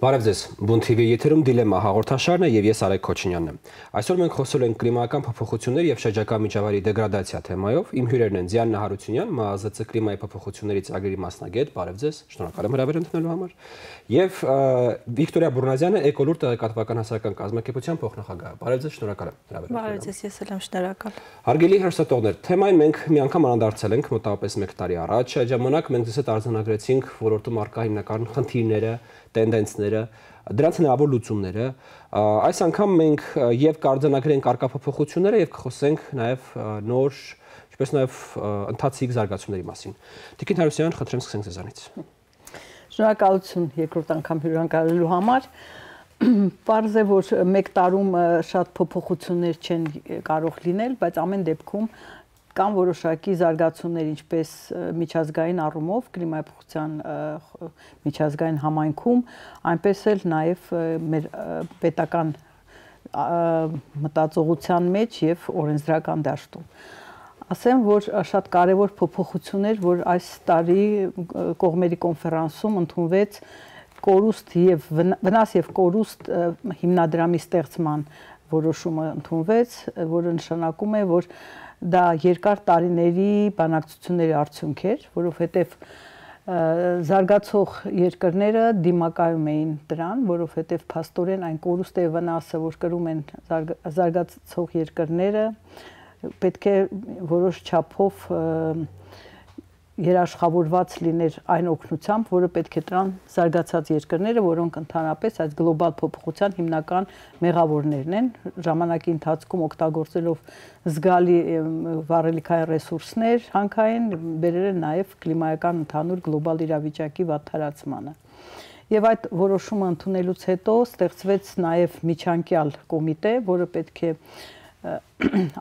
Բարև ձեզ, Բուն TV եթերում դիլեմա հաղորդաշարն է եւ ես Արեգ Քոչինյանն եմ։ Այսօր մենք խոսելու ենք կլիմայական փոփոխությունների եւ շրջակա միջավայրի դեգրադացիա թեմայով։ Իմ հյուրերն են Ձիաննա Հարությունյան, ՄԱԶԾ կլիմայի փոփոխությունների ծրագրի մասնագետ, բարև ձեզ, շնորհակալ եմ հրավեր ընդունելու համար, եւ Վիկտորիա Բուրնազյանը, Էկոլուր տեղեկատվական հասարակական կազմակերպության փոխնախագահ։ Բարև ձեզ, շնորհակալ եմ հրավեր ընդունելու համար։ Բարև ձեզ, ես էլ եմ շնորհակալ։ Հարգելի հեռուստատողներ, թեմային մենք մի անգամ անդրադարձել ենք մոտավորապես 1 տարի առաջ։ Այդ ժամանակ մենք ձեզ հետ արձանագրեցինք ոլորտում առկա հիմնական խնդիրները, տենդենսները, դրանց հնարավոր լուծումները։ Այս անգամ մենք եւ կարձանագրենք առկա փոփոխությունները եւ կխոսենք նաեւ նոր, ինչպես նաեւ ընթացիկ զարգացումների մասին։ Տիկին Հարությունյան, խնդրեմ սկսենք ձեզանից։ Շնորհակալություն երկրորդ անգամ հյուրընկալելու համար։ Պարզ է, որ 1 տարում շատ փոփոխություններ չեն կարող լինել, բայց ամեն դեպքում կան որոշակի զարգացումներ, ինչպես միջազգային առումով կլիմայի փոփոխության միջազգային համայնքում, այնպես էլ նաև մեր պետական մտածողության մեջ եւ օրենսդրական դաշտում։ Ասեմ, որ շատ կարևոր փոփոխություններ, որ այս տարի կողմերի կոնֆերանսում ընդունվեց կորուստ եւ վնաս եւ կորուստ հիմնադրամի ստեղծման որոշումը ընդունվեց, որը նշանակում է, որ դա երկար տարիների բանակցությունների արդյունք էր, որովհետև զարգացող երկրները դիմակայում էին դրան, որովհետև փաստորեն այն կորուստը եւ վնասը, որ կրում են զարգացող երկրները, պետք է որոշ չափով երաշխավորված լիներ այն օգնությամբ, որը պետք է տան զարգացած երկրները, որոնք ընդհանրապես այս գլոբալ փոփոխության հիմնական մեղավորներն են, ժամանակի ընթացքում օգտագործելով զգալի վառելիքային ռեսուրսներ հանքային, բերել են նաև կլիմայական ընդհանուր գլոբալ իրավիճակի վատթարացմանը։ Եվ այդ որոշումը ընդունելուց հետո ստեղծվեց նաև միջանկյալ կոմիտե, որը պետք է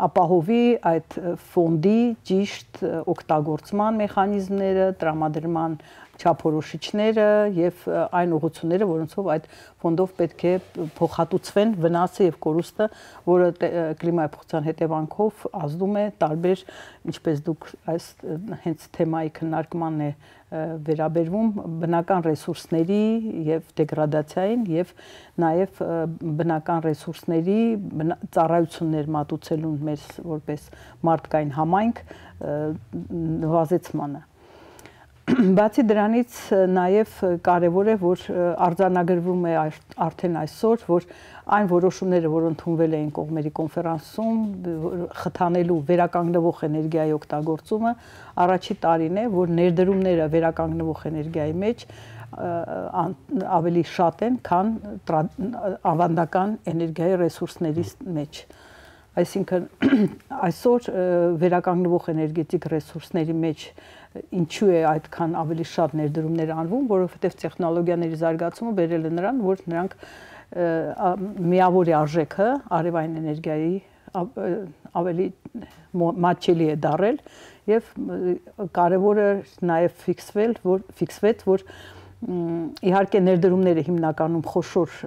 ապահովի այդ ֆոնդի ճիշտ օգտագործման մեխանիզմները, տրամադրման չափորոշիչները եւ այն ուղղությունները, որոնցով այդ ֆոնդով պետք է փոխհատուցվեն վնասը եւ կորուստը, որը կլիմայի փոփոխության հետևանքով ազդում է տարբեր, ինչպես դուք այս հենց թեմայի քննարկմանն է վերաբերվում բնական ռեսուրսների եւ դեգրադացիային եւ նաեւ բնական ռեսուրսների ծառայություններ մատուցելուն մեր որպես մարդկային համայնք նվազեցմանը։ Բացի դրանից նաև կարևոր է, որ արձանագրվում է արդեն այսօր, որ այն որոշումները, որ ընդունվել էին կողմերի կոնֆերանսում, խթանելու վերականգնվող էներգիայի օգտագործումը, առաջի տարին է, որ ներդրումները վերականգնվող էներգիայի մեջ ավելի շատ են, քան ավանդական էներգիայի ռեսուրսների մեջ։ Այսինքն այսօր վերականգնվող էներգետիկ ռեսուրսների մեջ ինչու է այդքան ավելի շատ ներդրումներ անվում, որովհետև տեխնոլոգիաների զարգացումը բերել է նրան, որ նրանք միավորի արժեքը արևային էներգիայի ավելի մատչելի է դարել եւ կարեւորը նաեւ ֆիքսվեց, որ իհարկե ներդրումները հիմնականում խոշոր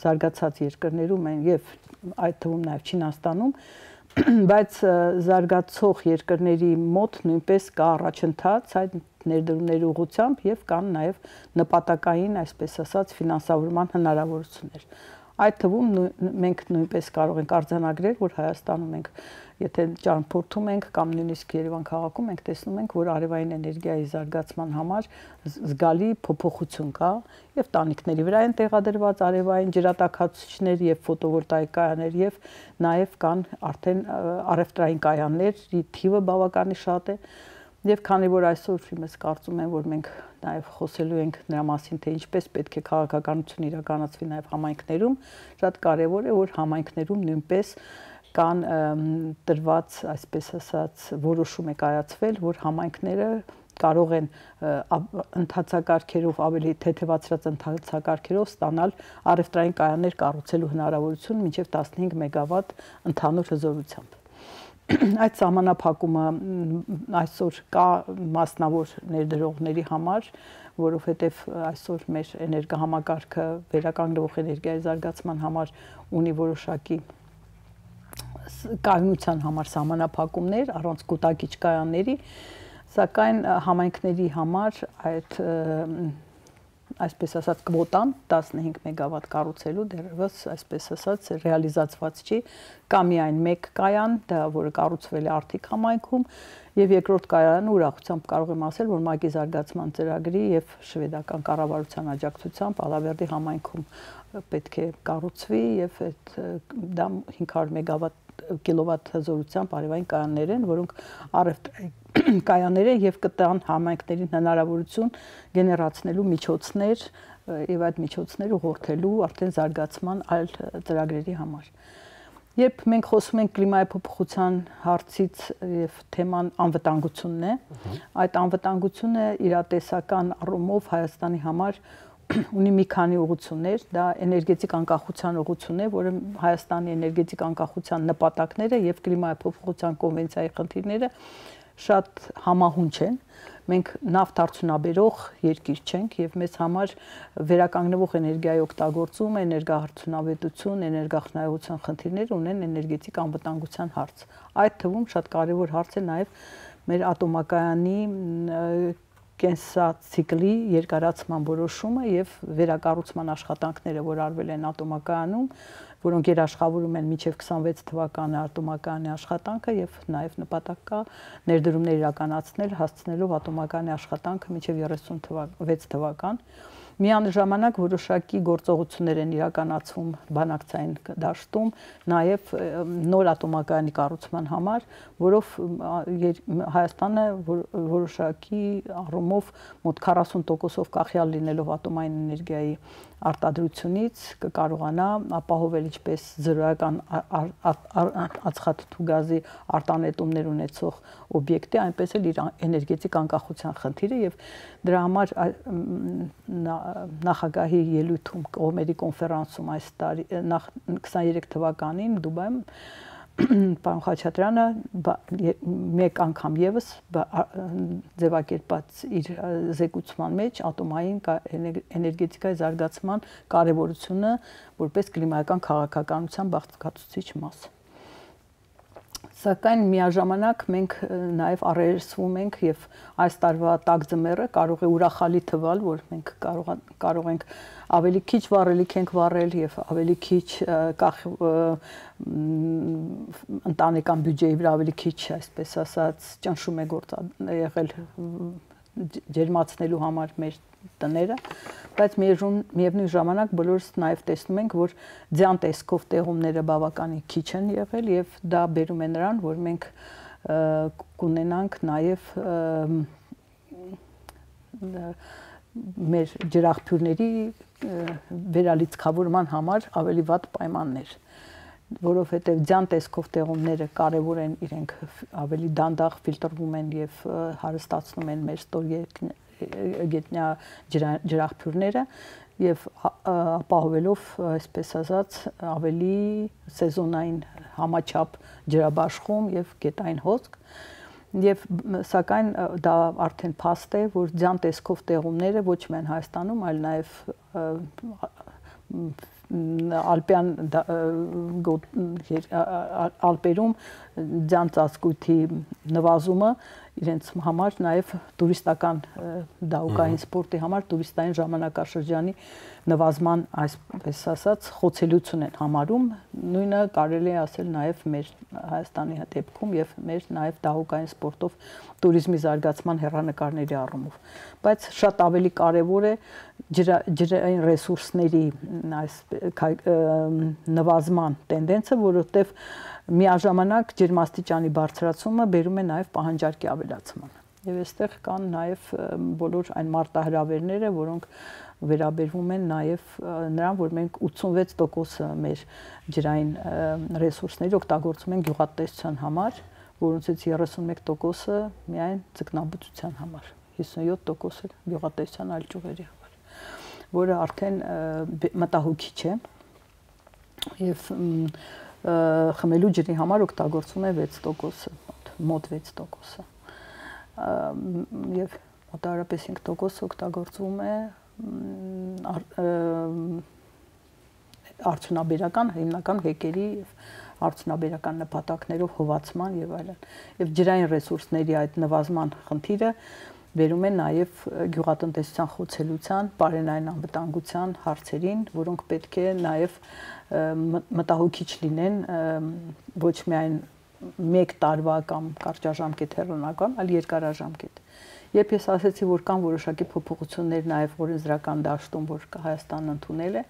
զարգացած երկրներում են եւ այդ թվում նաեւ Չինաստանում, բայց զարգացող երկրների մոտ նույնպես կա առաջընթաց այդ ներդրումների ուղղությամբ եւ կան նաեւ նպատակային, այսպես ասած, ֆինանսավորման հնարավորություններ։ Այդ թվում մենք նույնպես կարող ենք արձանագրել, որ Հայաստանում ենք, եթե ճանապարհորդում ենք կամ նույնիսկ Երևան քաղաքում ենք տեսնում ենք, որ արևային էներգիայի զարգացման համար զգալի փոփոխություն կա եւ տանիքների վրա են տեղադրված արևային ջրատաքացուցիչներ եւ ֆոտովոլտաիկ կայաններ եւ նաեւ կան արդեն առևտրային կայանների թիվը բավականին շատ է եւ քանի որ այսօր իմս կարծում եմ, որ մենք նաեւ խոսելու ենք նրա մասին, թե ինչպես պետք է քաղաքականություն իրականացվի նաեւ համայնքներում, շատ կարեւոր է, որ համայնքներում նույնպես կան տրված, այսպես ասած, որոշում է կայացվել, որ համայնքները կարող են ընթացակարգերով ավելի թեթևացրած ընթացակարգերով ստանալ առևտրային կայաններ կառուցելու հնարավորություն մինչև 15 մեգավատ ընդհանուր հզորությամբ։ Այդ սահմանափակումը այսօր կա մասնավոր ներդրողների համար, որովհետև այսօր մեր էներգահամակարգը վերականգնվող էներգիայի զարգացման համար ունի որոշակի կայունության համար սահմանափակումներ առանց կուտակիչ կայանների, սակայն համայնքների համար այդ այսպես ասած կվոտան 15 մեգավատ կառուցելու դեռևս այսպես ասած ռեալիզացված չի, կա միայն մեկ կայան, դա որը կառուցվել է Արթիկ համայնքում, եւ երկրորդ կայարանը ուրախությամբ կարող եմ ասել, որ ՄԱԿ-ի զարգացման ծրագրի եւ շվեդական կառավարության աջակցությամբ Ալավերդի համայնքում պետք է կառուցվի եւ դա 500 մեգավատ կիլովատ հզորությամբ արևային կայաններ են, որոնք առևտրային կայաններ են եւ կտան համայնքներին հնարավորություն գեներացնելու միջոցներ եւ այդ միջոցները ուղղորդելու արդեն զարգացման այլ ծրագրերի համար։ Երբ մենք խոսում ենք կլիմայի փոփոխության հարցից եւ թեման անվտանգությունն է, այդ անվտանգությունը իրատեսական առումով Հայաստանի համար ունի մի քանի ուղղություններ, դա էներգետիկ անկախության ուղղությունն է, որը Հայաստանի էներգետիկ անկախության նպատակները եւ կլիմայի փոփոխության կոնվենցիայի խնդիրները շատ համահունչ են։ Մենք նավթ արդյունաբերող երկիր չենք եւ մեզ համար վերականգնվող էներգիայի օգտագործումը, էներգահարդյունավետություն, էներգախնայողության խնդիրներ ունեն էներգետիկ անվտանգության հարց։ Այդ թվում շատ կարեւոր հարց է նաեւ մեր ատոմակայանի կենսացիկլի երկարացման որոշումը եւ վերակառուցման աշխատանքները, որ արվել են ատոմակայանում, որոնք երաշխավորում են մինչև 26 թվականը ատոմակայանի աշխատանքը եւ նաեւ նպատակ կա ներդրումներ իրականացնել հասցնելով ատոմակայանի աշխատանքը մինչև 36 թվական։ Միանժամանակ որոշակի գործողություններ են իրականացվում բանակցային դաշտում, նաև նոր ատոմակայանի կառուցման համար, որով Հայաստանը որոշակի առումով մոտ 40%-ով կախյալ լինելով ատոմային էներգիայի արտադրությունից կկարողանա ապահովել ինչպես զրոյական ածխաթթու գազի արտանետումներ ունեցող օբյեկտի, այնպես էլ իր էներգետիկ անկախության խնդիրը եւ դրա համար նախագահի ելույթում կողմերի կոնֆերանսում այս տարի 23 թվականին Դուբայում պարոն Խաչատրյանը մեկ անգամ եւս ձևակերպած իր զեկուցման մեջ ատոմային էներգետիկայի զարգացման կարեւորությունը որպես կլիմայական քաղաքականության բաղկացուցիչ մաս։ Սակայն միաժամանակ մենք նաև առերեսվում ենք եւ այս տարվա տաք ձմեռը կարող է ուրախալի թվալ, որ մենք կարող ենք ավելի քիչ վառելիք ենք վառել եւ ավելի քիչ ընտանեկան բյուջեի վրա ավելի քիչ, այսպես ասած, ճնշում է եղել ջերմացնելու համար մեր տները, բայց միևնույն ժամանակ բոլորս նաև տեսնում ենք, որ ձյան տեսքով տեղումները բավականին քիչ են եղել եւ դա բերում է նրան, որ մենք կունենանք նաև մեր ջրաղբյուրների վերալիցքավորման համար ավելի վատ պայմաններ, որովհետեւ ձյան տեսքով տեղումները կարեւոր են, իրենք ավելի դանդաղ ֆիլտրվում են եւ հարստացնում են մեր ստորգետնյա ջրաղբյուրները եւ ապահովելով, այսպես ասած, ավելի սեզոնային համաչափ ջրաբաշխում եւ գետային հոսք եւ սակայն դա արդեն փաստ է, որ ձյան տեսքով տեղումները ոչ միայն Հայաստանում, այլ նաեւ Ալպերում ձյան ծածկույթի նվազումը իրենց համար նաև տուրիստական դահուկային սպորտի համար տուրիստային ժամանակաշրջանի նվազման, այսպես ասած, խոցելիություն են համարում, նույնը կարելի է ասել նաև մեր Հայաստանի դեպքում եւ մեր նաև դահուկային սպորտով տուրիզմի զարգացման հեռանկարների առումով, բայց շատ ավելի կարեւոր է ջրային ռեսուրսների այս նվազման տենդենսը, որովհետեւ միաժամանակ ջերմաստիճանի բարձրացումը բերում է նաև պահանջարկի ավելացման։ Եվ այստեղ կան նաև բոլոր այն մարտահրավերները, որոնք վերաբերվում են նաև նրան, որ մենք 86% մեր ջրային ռեսուրսների օգտագործում ենք գյուղատնտեսության համար, որոնցից 31%-ը միայն ձկնաբուծության համար, 57%-ը գյուղատնտեսության այլ ճյուղերի համար, որը արդեն մտահոգիչ է եւ խմելու ջրի համար օգտագործվում է 6%, մոտ 6%-ը։ Եվ մոտավորապես 5% օգտագործվում է արդյունաբերական, հիմնական հեկերի եւ արդյունաբերական նպատակներով հովացման եւ այլն։ Եվ ջրային ռեսուրսների այդ նվազման խնդիրը վերում են նաև գյուղատնտեսության խոցելիության, բարենային անվտանգության հարցերին, որոնք պետք է նաև մտահոգիչ լինեն ոչ միայն 1 տարվա կամ կարճաժամկետ հեռանկար, այլ երկարաժամկետ։ Երբ ես ասացի, որ կան որոշակի փոփոխություններ նաև օրենսդրական դաշտում, որ Հայաստանն ընդունել է,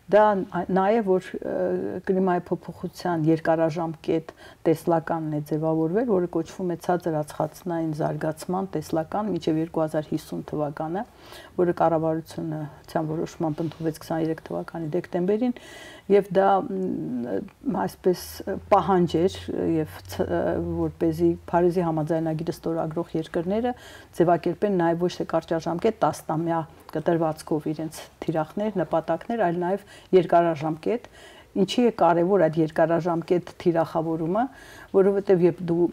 դա նաև որ կլիմայի փոփոխության երկարաժամկետ տեսլականն է ձևավորվել, որը կոչվում է ցածր ածխածնային զարգացման տեսլական մինչև 2050 թվականը, որը կառավարությունը ցան որոշմամբ ընդունվեց 23 թվականի դեկտեմբերին, եւ դա այսպես պահանջ էր եւ որպեսզի Փարիզի համաձայնագիրը ստորագրող երկրները ձևակերպեն նաև ոչ թե կարճաժամկետ 10-ամյա կտրվածքով իրենց թիրախներ, նպատակներ, այլ նաև երկարաժամկետ, ինչի է կարևոր այդ երկարաժամկետ թիրախավորումը, որովհետև երբ դու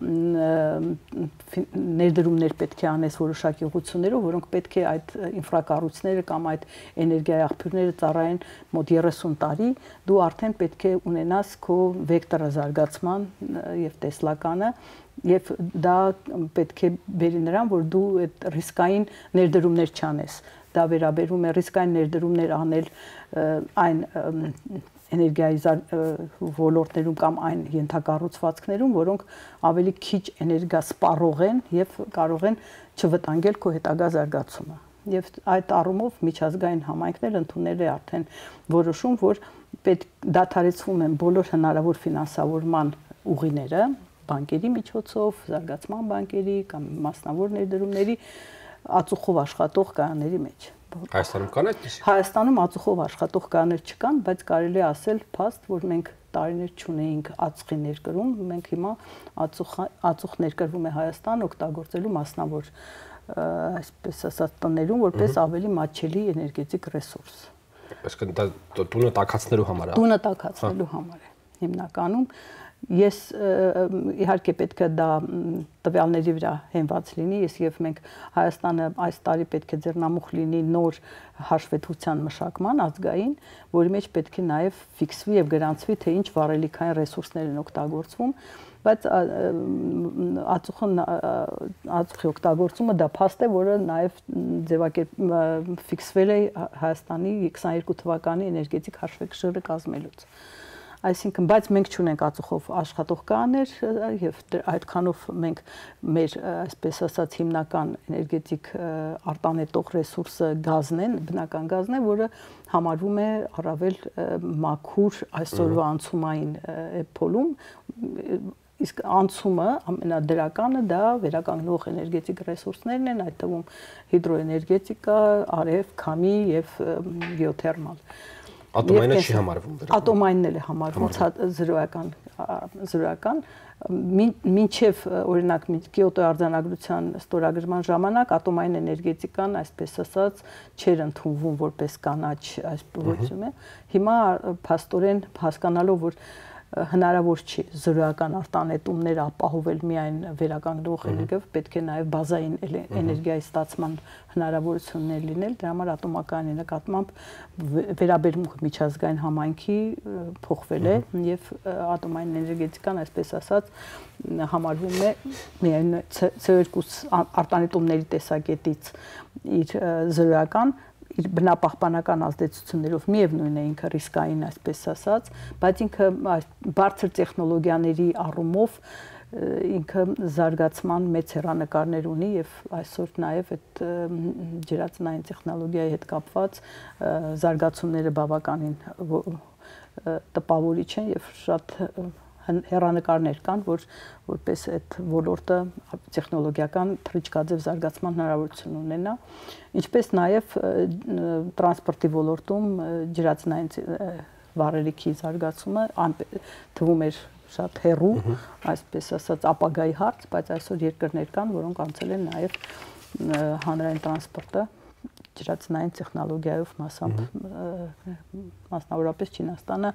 ներդրումներ պետք է անես որոշակի ուղղություններով, որոնք պետք է այդ ինֆրակառույցները կամ այդ էներգիայի աղբյուրները ծառայեն մոտ 30 տարի, դու արդեն պետք է ունենաս քո վեկտորը զարգացման եւ տեսլականը, եւ դա պետք է բերի նրան, որ դու այդ ռիսկային ներդրումներ չանես։ Դա վերաբերում է ռիսկային ներդրումներ անել այն էներգիայի ոլորտներում կամ այն ենթակառուցվածքներում, որոնք ավելի քիչ էներգիա սպառող են եւ կարող են չվտանգել քո հետագա զարգացումը։ Եվ այդ առումով միջազգային համայնքն ընդունել է արդեն որոշում, որ պետք դադարեցվում են բոլոր հնարավոր ֆինանսավորման ուղիները, բանկերի միջոցով, զարգացման բանկերի կամ մասնավոր ներդրումների ածուխով աշխատող կայանների մեջ։ Հայաստանում կան այդպես։ Հայաստանում ածուխով աշխատող կաներ չկան, բայց կարելի է ասել փաստ, որ մենք տարիներ չունեինք ածխի ներկրում, մենք հիմա ածուխ ներկրվում է Հայաստան օգտագործելու մասնավոր այսպես ասած տներում, որպես ավելի մատչելի էներգետիկ ռեսուրս։ Այսինքն դա տունը տաքացնելու համար է։ Տունը տաքացնելու համար է հիմնականում։ Ես իհարկե պետք է դա տվյալների վրա հենված լինի, եւ մենք Հայաստանը այս տարի պետք է ձեռնամուխ լինի նոր հաշվետվության մշակման ազգային, որի մեջ պետք է նաեւ ֆիքսվի եւ գրանցվի, թե ինչ վառելիքային ռեսուրսներ են օգտագործվում, բայց ածուխի օգտագործումը դա փաստ է, որը նաեւ ֆիքսվել է Հայաստանի 22 թվականի էներգետիկ հաշվեկշիռը կազմելուց։ Այսինքն, բայց մենք չունենք ածուխով աշխատող կաներ եւ այդքանով մենք մեր այսպես ասած հիմնական էներգետիկ արտանետող ռեսուրսը գազն է, բնական գազն է, որը համարվում է առավել մաքուր այսօրվա անցումային փոլում, իսկ անցումը ամենադրականը դա վերականգնող էներգետիկ ռեսուրսներն են, այդ թվում հիդրոէներգետիկա, արև, քամի եւ գեոթերմալ։ Ատոմայինը չի համարվում դրա։ Ատոմայինն էլ է համարվում զրոյական, մինչև օրինակ Կիոտոյի արձանագրության ստորագրման ժամանակ ատոմային էներգետիկան, այսպես ասած, չէր ընդունվում որպես կանաչ այս փոխում է։ Հիմա փաստորեն հասկանալով, որ հնարավոր չի զրոյական արտանետումներ ապահովել միայն վերականգնող էներգիայով, պետք է նաև բազային էներգիայի ստացման հնարավորություններ լինել, դրա համար ատոմակայանի նկատմամբ վերաբերմունքը միջազգային համայնքի փոխվել է եւ ատոմային էներգետիկան, այսպես ասած, համարվում է միայն CO2 արտանետումների տեսակետից իր զրոյական իր բնապահպանական ազդեցություններով միևնույն է ինքը ռիսկային, այսպես ասած, բայց ինքը բարձր տեխնոլոգիաների առումով ինքը զարգացման մեծ հեռանկարներ ունի եւ այսօր նաեւ այդ ջրածնային տեխնոլոգիայի հետ կապված զարգացումները բավականին տպավորիչ են եւ շատ հեռանկարներ կան, որպես այդ ոլորտը տեխնոլոգիական թռիչքաձև զարգացման հնարավորություն ունենա, ինչպես նաև տրանսպորտի ոլորտում ջրածնային վառելիքի զարգացումը թվում էր շատ հեռու, այսպես ասած ապագայի հարց, բայց այսօր երկրներ կան, որոնք անցել են նաև հանրային տրանսպորտը ջրածնային տեխնոլոգիայով մասնավորապես Չինաստանը,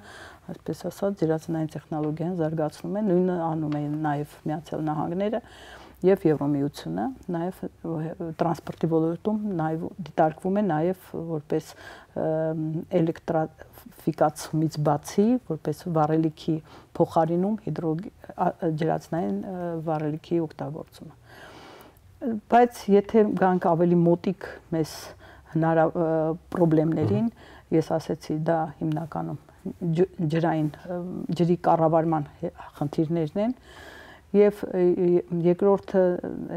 այսպես ասած, ջրածնային տեխնոլոգիան զարգացնում է, նույնը անում է նաև Միացյալ Նահանգները եւ Եվրոմիությունը, նաև տրանսպորտի ոլորտում նաև դիտարկվում է նաև որպես էլեկտրաֆիկացումից բացի, որպես վառելիքի փոխարինում ջրածնային վառելիքի օգտագործումը։ Բայց եթե գանք ավելի մոտիկ մեզ պրոբլեմներին, ես ասեցի, դա հիմնականում ջրի կառավարման խնդիրներն են եւ երկրորդը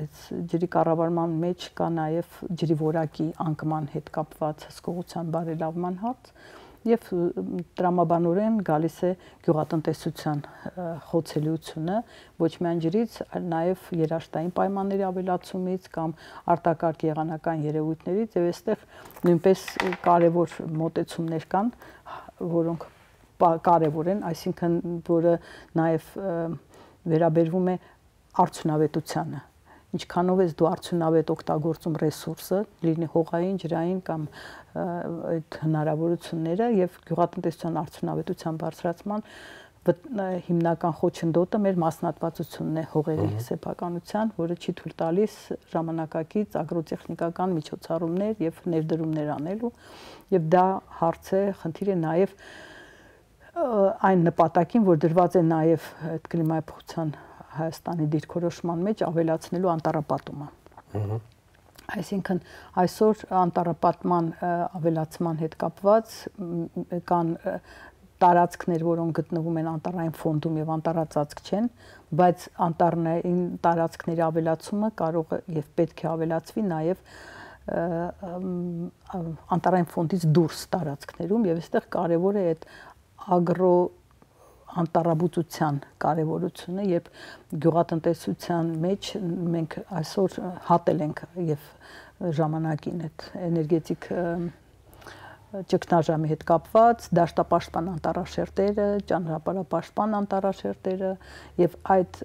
այս ջրի կառավարման մեջ կա նաեւ ջրի որակի անկման հետ կապված հսկողության բարելավման հարց եւ տրամաբանորեն գալիս է գյուղատնտեսության խոցելիությունը ոչ միայն ջրից, այլ նաեւ երաշտային պայմանների ավելացումից կամ արտակարգ եղանական երևույթներից եւ այստեղ նույնպես կարեւոր մոտեցումներ կան, որոնք կարևոր են, այսինքն որը նաեւ վերաբերվում է արդյունավետությանը։ Ինչքանով ես դու արդյունավետ օգտագործում ռեսուրսը, լինի հողային, ջրային կամ այդ հնարավորությունները եւ գյուղատնտեսության արդյունավետության բարձրացման հիմնական խոչընդոտը մեր մասնատվածությունն է հողերի սեփականության, որը չի թույլ տալիս ժամանակակից ագրոտեխնիկական միջոցառումներ եւ ներդրումներ անելու եւ դա հարց է, խնդիր է նաեւ այն նպատակին, որ դրված է նաեւ այդ կլիմայի փոխության Հայաստանի դիրքորոշման մեջ ավելացնելու անտառապատումը։ Այսինքն այսօր անտառապատման ավելացման հետ կապված կան տարածքներ, որոնք գտնվում են անտառային ֆոնդում եւ անտառածածկ չեն, բայց անտառային տարածքների ավելացումը կարող է եւ պետք է ավելացվի նաեւ անտառային ֆոնդից դուրս տարածքներում եւ այստեղ կարեւոր է այդ ագրո անտառաբուծության կարևորությունը, երբ գյուղատնտեսության մեջ մենք այսօր հատել ենք եւ ժամանակին այդ էներգետիկ ճգնաժամի հետ կապված դաշտապաշտպան անտառաշերտերը, ճանապարհապաշտպան անտառաշերտերը եւ այդ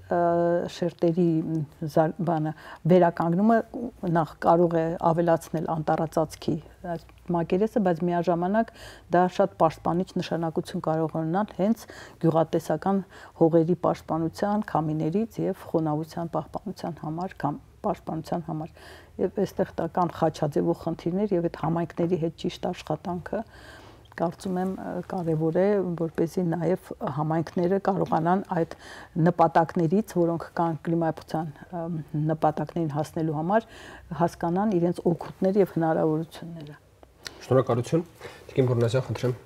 շերտերի վերականգնումը նախ կարող է ավելացնել անտառածածկի մակերեսը, բայց միաժամանակ դա շատ պաշտպանիչ նշանակություն կարող ունենալ հենց գյուղատնտեսական հողերի պաշտպանության, քամիներից եւ խոնավության պահպանության համար կամ պաշտպանության համար եւ այստեղ կան խաչաձևող խնդիրներ եւ այդ համայնքների հետ ճիշտ աշխատանքը կարծում եմ կարեւոր է որպեսզի նաեւ համայնքները կարողանան այդ նպատակներից, որոնք կան կլիմայի փոխության նպատակներին հասնելու համար, հասկանան իրենց օգուտները եւ հնարավորությունները։ Շնորհակալություն։ Տիկին Բուրնազյան, խնդրեմ։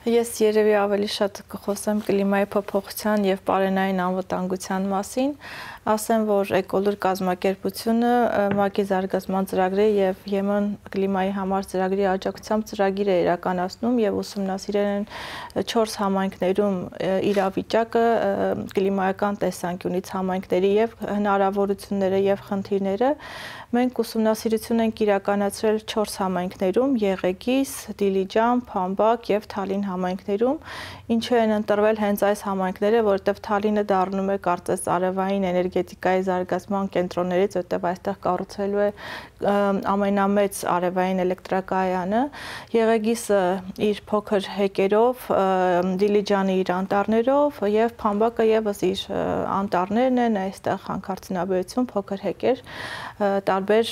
Ես երևի ավելի շատ կխոսեմ կլիմայի փոփոխության եւ պարենային անվտանգության մասին, ասեմ, որ Էկոլուր կազմակերպությունը ՄԱԿ-ի զարգացման ծրագրի եւ ԵՄ կլիմայի համար ծրագրի աջակցությամբ ծրագիր է իրականացնում եւ ուսումնասիրել են 4 համայնքներում իրավիճակը կլիմայական տեսանկյունից համայնքների եւ հնարավորությունները եւ խնդիրները։ Մենք ուսումնասիրություն ենք իրականացրել 4 համայնքներում՝ Եղեգիս, Դիլիջան, Փամբակ եւ Թալին համայնքներում, ինչու են ընտրվել հենց այս համայնքները, որովհետեւ Թալինը դառնում է կարծես արևային էներգետիկայի զարգացման կենտրոններից, որտեղ այստեղ կառուցելու է ամենամեծ արևային էլեկտրակայանը, Եղեգիսը իր փոքր հեկերով, Դիլիջանը իր անտառներով եւ Փամբակը եւս իր անտառներն են, այստեղ հանքարդյունաբերություն, փոքր հեկեր, տարբեր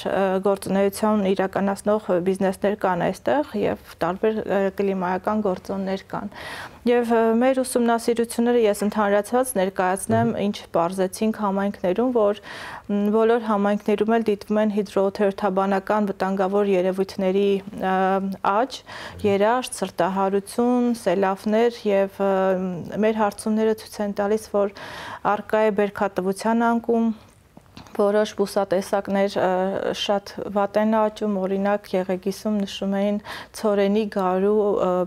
գործունեություն իրականացնող բիզնեսներ կան այստեղ եւ տարբեր կլիմայական գործոններ կան։ Եվ մեր ուսումնասիրությունները ես ընդհանրացված ներկայացնեմ, ինչ պարզեցինք համայնքներում, որ բոլոր համայնքներում էլ դիտվում են հիդրոթերթաբանական վտանգավոր երևույթների աճ, երաշտ, սրտահարություն, սելավներ եւ մեր հարցումները ցույց են տալիս, որ առկա է բերքատվության անկում, որոշ բուսատեսակներ շատ վատ են աճում, օրինակ Եղեգիսում նշում էին ցորենի, գարու,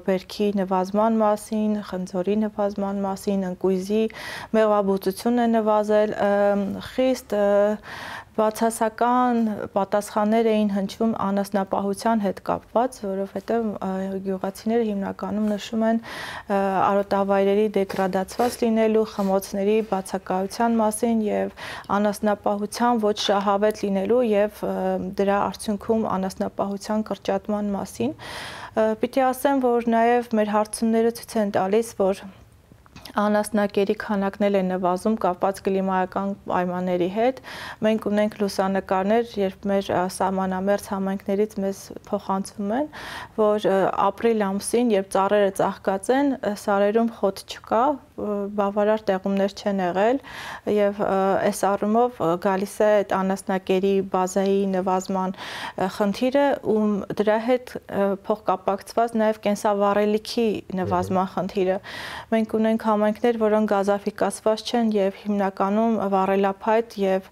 բերքի նվազման մասին, խնձորի նվազման մասին, ընկույզի մեղվաբուծությունն է նվազել, խիստ բացասական պատասխաններ էին հնչում անասնապահության հետ կապված, որովհետև գյուղացիները հիմնականում նշում են արոտավայրերի դեգրադացված լինելու, խմոցների բացակայության մասին եւ անասնապահության ոչ շահավետ լինելու եւ դրա արդյունքում անասնապահության կրճատման մասին։ Պիտի ասեմ, որ նաեւ մեր հարցումները ցույց են տալիս, որ անասնակերի քանակներն են նվազում կապված կլիմայական պայմանների հետ։ Մենք ունենք լուսանկարներ, երբ մեր սահմանամերձ համայնքներից մեզ փոխանցվում են, որ ապրիլ ամսին, երբ ծառերը ծաղկած են, սարերում խոտ չկա, բավարար տեղումներ չեն եղել եւ այս առումով գալիս է այդ անասնակերի բազայի նվազման խնդիրը ու դրա հետ փոխկապակցված նաեւ կենսավառելիքի նվազման խնդիրը։ Մենք ունենք համայնքներ, որոնք գազաֆիկացված չեն եւ հիմնականում վառելափայտ եւ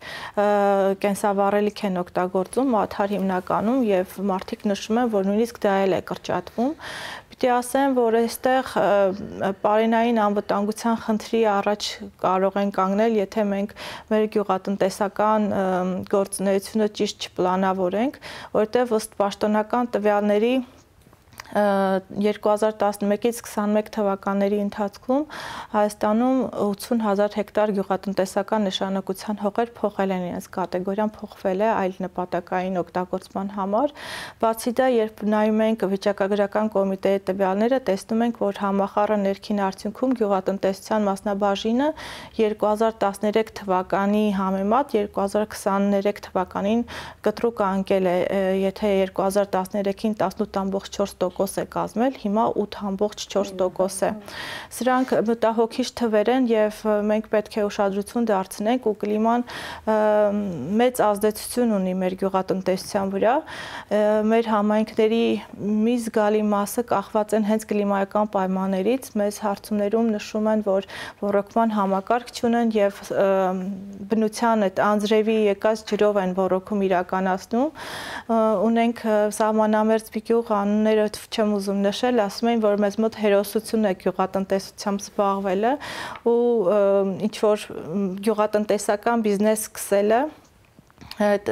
կենսավառելիք են օգտագործում, մաթար հիմնականում եւ մարդիկ նշում են, որ նույնիսկ դա էլ է կրճատվում։ Պիտի ասեմ, որ այստեղ պարենային անվտանգության խնդրի առաջ կարող են կանգնել, եթե մենք մեր գյուղատնտեսական գործունեությունը ճիշտ չպլանավորենք, որտեղ ըստ պաշտոնական տվյալների 2011-ից 21 թվականների ընթացքում Հայաստանում 80,000 հեկտար գյուղատնտեսական նշանակության հողեր փոխել են իրենց կատեգորիան, փոխվել է այլ նպատակային օգտագործման համար։ Բացի դա, երբ նայում ենք վիճակագրական կոմիտեի տվյալները, տեսնում ենք, որ համախառն ներքին արդյունքում գյուղատնտեսության մասնաբաժինը 2013 թվականի համեմատ 2023 թվականին կտրուկ անկել է, եթե 2013-ին 18.4% է կազմել, հիմա 8.4% է։ Սրանք մտահոգիչ թվեր են եւ մենք պետք է ուշադրություն դարձնենք ու կլիման մեծ ազդեցություն ունի մեր գյուղատնտեսության վրա։ Մեր համայնքների մի զգալի մասը կախված են հենց կլիմայական պայմաններից։ Մեզ հարցումներում նշում են, որ ոռոգման համակարգ չունեն եւ բնության այդ անձրևի եկած ջրով են ոռոգում իրականացնում։ Ունենք սահմանամերձ գյուղ անունները չեմ ուզում նշել, ասում են, որ մեզ մոտ հերոսություն է գյուղատնտեսությամբ զբաղվելը ու ինչ որ գյուղատնտեսական բիզնես սկսելը այդ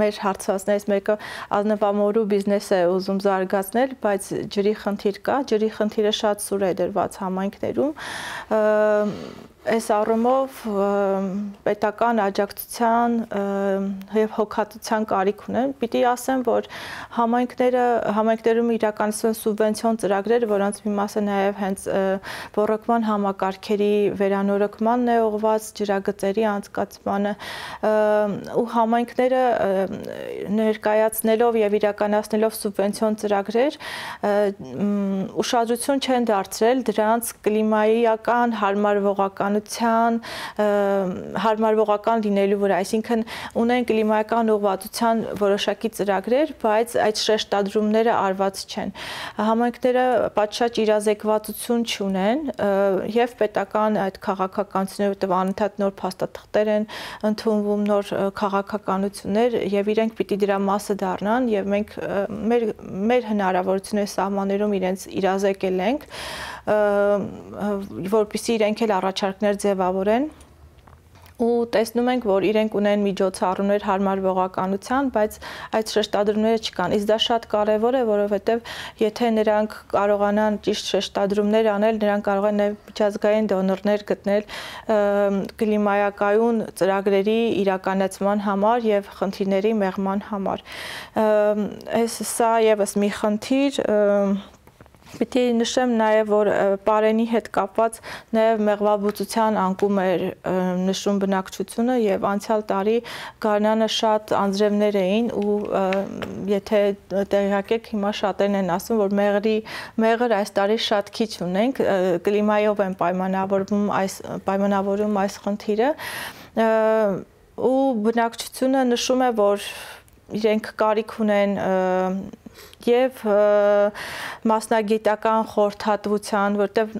մեր հարցվածներից մեկը ազնվամորու բիզնես է ուզում զարգացնել, բայց ջրի խնդիր կա, ջրի խնդիրը շատ սուր է դրված համայնքներում։ Այս առումով պետական աջակցության եւ հոգատության կարիք ունեն։ Պիտի ասեմ, որ համայնքներում իրականացվեն սուբվենցիոն ծրագրեր, որոնց մի մասը նաեւ հենց ոռոգման համակարգերի վերանորոգմանն է ուղղված, ջրագծերի անցկացմանը ու համայնքները ներկայացնելով եւ իրականացնելով սուբվենցիոն ծրագրեր ուշադրություն չեն դարձրել դրանց կլիմայական հարմարվողական լինելու վրա, այսինքն ունեն կլիմայական ուղղվածության որոշակի ծրագրեր, բայց այդ շեշտադրումները արված չեն։ Համայնքները պատշաճ իրազեկվածություն չունեն եւ պետական այդ քաղաքականությունները, որտեղ անընդհատ նոր փաստաթղթեր են ընդունվում, նոր քաղաքականություններ եւ իրենք պիտի դրա մասը դառնան եւ մենք մեր հնարավորությունների սահմաններում իրենց իրազեկել ենք, որպեսզի իրենք էլ առաջարկներ ձևավորեն ու տեսնում ենք, որ իրենք ունեն միջոցառումներ հարմարվողականության, բայց այդ շեշտադրումները չկան։ Իսկ դա շատ կարևոր է, որովհետև եթե նրանք կարողանան ճիշտ շեշտադրումներ անել, նրանք կարող են միջազգային դոնորներ գտնել կլիմայակայուն ծրագրերի իրականացման համար եւ խնդիրների մեղման համար։ Սա եւս մի խնդիր Պիտի նշեմ նաև, որ պարենի հետ կապված նաև մեղվաբուծության անկում էր նշում բնակչությունը եւ անցյալ տարի գարնանը շատ անձրևներ էին ու եթե տեղյակ եք հիմա շատերն են ասում, որ մեղր այս տարի շատ քիչ ունենք, կլիմայով են պայմանավորում այս խնդիրը ու բնակչությունը նշում է, որ իրենք կարիք ունեն եւ մասնագիտական խորհրդատվության, որտեղ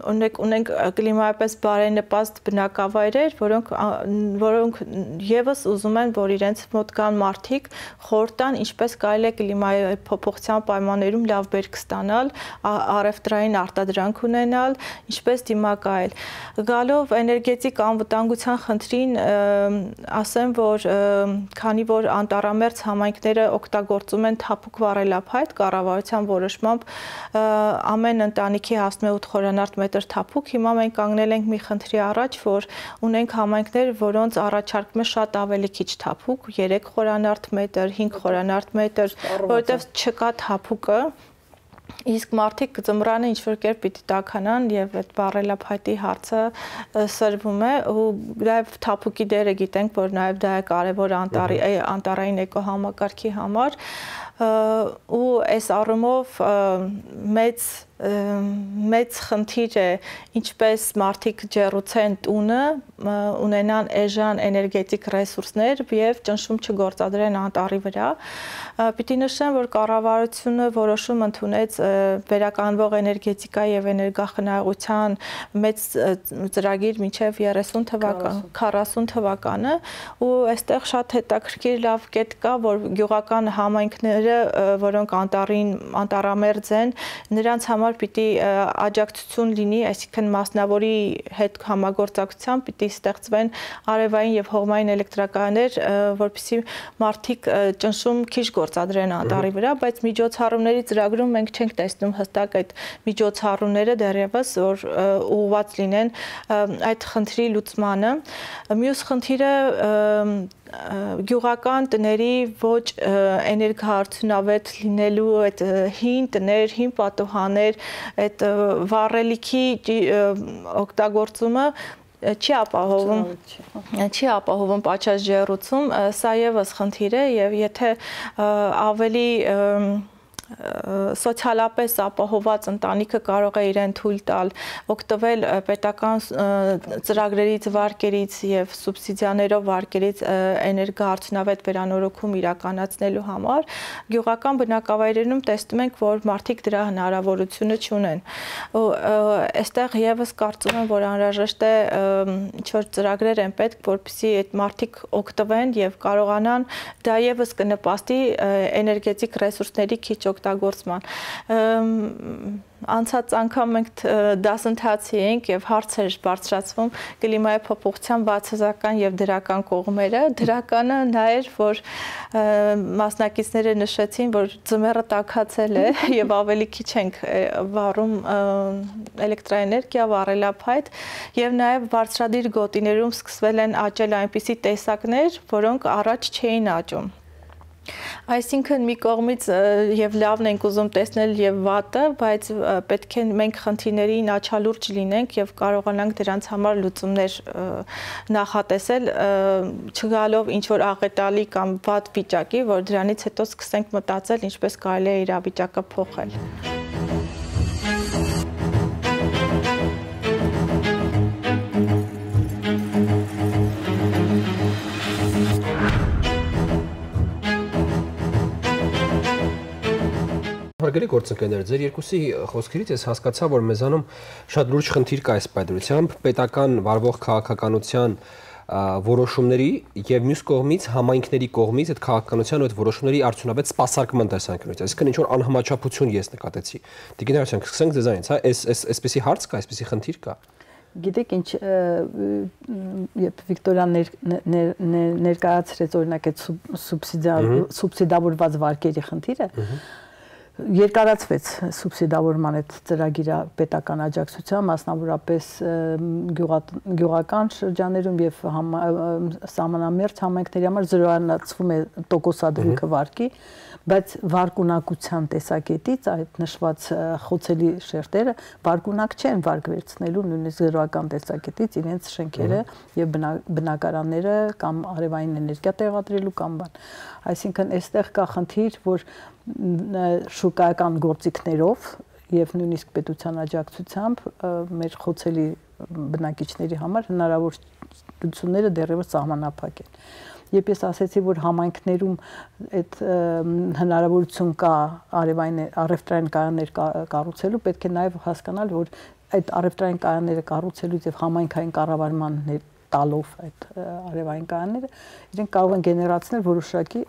ունենք կլիմայապես բարենպաստ բնակավայրեր, որոնք եւս ուզում են, որ իրենց մոտ կան մարդիկ խորհուրդ տան, ինչպես կարելի է կլիմայի փոփոխության պայմաններում լավ բերք ստանալ, առևտրային արտադրանք ունենալ, ինչպես դիմակայել։ Գալով էներգետիկ անվտանգության խնդրին, ասեմ, որ քանի որ անտառամերձ համայնքները օգտագործում են թափուկ վառելափայտ կառավարության որոշմամբ ամեն ընտանիքի հասնում է 8 խորանարդ մետր թափուկ, հիմա մենք կանգնել ենք մի խնդրի առաջ, որ ունենք համայնքներ, որոնց առաջարկում է շատ ավելի քիչ թափուկ, 3 խորանարդ մետր, 5 խորանարդ մետր, որովհետև չկա թափուկը Իսկ մարդիկ ծմրանը ինչ-որ կերպ պիտի տաքանան եւ այդ բարելափայտի հարցը սրվում է ու նաեւ թափուկի դերը գիտենք, որ նաեւ դա է կարեւոր անտառային էկոհամակարգի համար ու այս առումով մեծ խնդիր է ինչպես մարդիկ ջեռուցեն տունը, ունենան էժան էներգետիկ ռեսուրսներ եւ ճնշում չգործադրեն անտառի վրա։ Պիտի նշեմ, որ կառավարությունը որոշում ընդունեց վերականգնվող էներգետիկա եւ էներգախնայողության մեծ ծրագիր մինչեւ 30 թվական, 40 թվականը ու այստեղ շատ հետաքրքիր լավ կետ կա, որ գյուղական համայնքները, որոնք անտառամերձ են, նրանց համար պիտի աջակցություն լինի, այսինքն մասնավորի հետ համագործակցությամբ պիտի ստեղծվեն արևային եւ հողմային էլեկտրակայաններ, որպեսզի մարդիկ ճնշում քիչ գործադրեն անտառի վրա, բայց միջոցառումների ծրագրում մենք չենք տեսնում հստակ այդ միջոցառումները դեռևս, որ ուղղված լինեն այդ խնդրի լուծմանը։ Մյուս խնդիրը գյուղական տների ոչ էներգոարդյունավետ լինելու այդ հին տներ, հին պատուհաններ, այդ վառելիքի օգտագործումը չի ապահովում պատշաճ ջեռուցում, սա եւս խնդիր է եւ եթե ավելի սոցիալապես ապահոված ընտանիքը կարող է իրեն թույլ տալ օգտվել պետական ծրագրերից, վարկերից եւ սուբսիդիաներով վարկերից էներգոարդյունավետ վերանորոգում իրականացնելու համար, գյուղական բնակավայրերում տեսնում ենք, որ մարդիկ դրա հնարավորությունը չունեն։ Ու այստեղ եւս կարծում եմ, որ անհրաժեշտ է ինչ-որ ծրագրեր են պետք, որպեսզի այդ մարդիկ օգտվեն եւ կարողանան, դա եւս կնպաստի էներգետիկ ռեսուրսների քիչ օգտագործման։ Անցած անգամ մենք դասընթացի էինք եւ հարցեր բարձրացվում կլիմայի փոփոխության բացասական եւ դրական կողմերը։ Դրականը նա էր, որ մասնակիցները նշեցին, որ ձմեռը տաքացել է եւ ավելի քիչ ենք վառում էլեկտրաէներգիա, վառելափայտ եւ նաեւ բարձրադիր գոտիներում սկսվել են աճել այնպիսի տեսակներ, որոնք առաջ չէին աճում։ Այսինքն մի կողմից եւ լավն ենք ուզում տեսնել եւ վատը, բայց պետք է մենք խնդիրներին աչալուրջ լինենք եւ կարողանանք դրանց համար լուծումներ նախատեսել, չգալով ինչ որ աղետալի կամ վատ վիճակի, որ դրանից հետո սկսենք մտածել ինչպես կարելի է իրավիճակը փոխել։ Հարգելի գործընկերներ, ձեր երկուսի խոսքերից ես հասկացա, որ մեզանում շատ լուրջ խնդիր կա այս պայմանությամբ պետական վարվող քաղաքականության որոշումների եւ մյուս կողմից համայնքների կողմից այդ քաղաքականության ու այդ որոշումների արդյունավետ սպասարկման տեսանկյունից։ Այսինքն ինչ որ անհամաչափություն ես նկատեցի։ Տիկին Հարությունյան, սկսենք ձեզանից, հա, այսպեսի հարց կա, այսպեսի խնդիր կա։ Գիտեք ինչ, երբ Վիկտորիան ներկայացրեց օրինակ այդ սուբսիդավորված վարկերի խնդիրը, երկարացվեց սուբսիդավորման այդ ծրագիրը պետական աջակցությամբ, մասնավորապես գյուղական շրջաներում եւ սահմանամերձ համայնքների համար զրոյանացվում է տոկոսադրույքը վարկի, բայց վարկունակության տեսակետից այդ նշված խոցելի շերտերը վարկունակ չեն վարկ վերցնելու նույնիսկ զրոյական տեսակետից իրենց շենքերը եւ բնակարանները կամ արևային էներգիա տեղադրելու կամ բան։ Այսինքն այստեղ կա խնդիր, որ շուկայական գործիքներով եւ նույնիսկ պետության աջակցությամբ մեր խոցելի բնակիչների համար հնարավորությունները դեռևս սահմանափակ են։ Երբ ես ասեցի, որ համայնքներում այդ հնարավորություն կա առևտրային կայաններ կառուցելու, պետք է նաեւ հասկանալ, որ այդ առևտրային կայանները կառուցելուց եւ համայնքային կառավարման տալով այդ արևային կայանները, իրենք կարող են գեներացնել որոշակի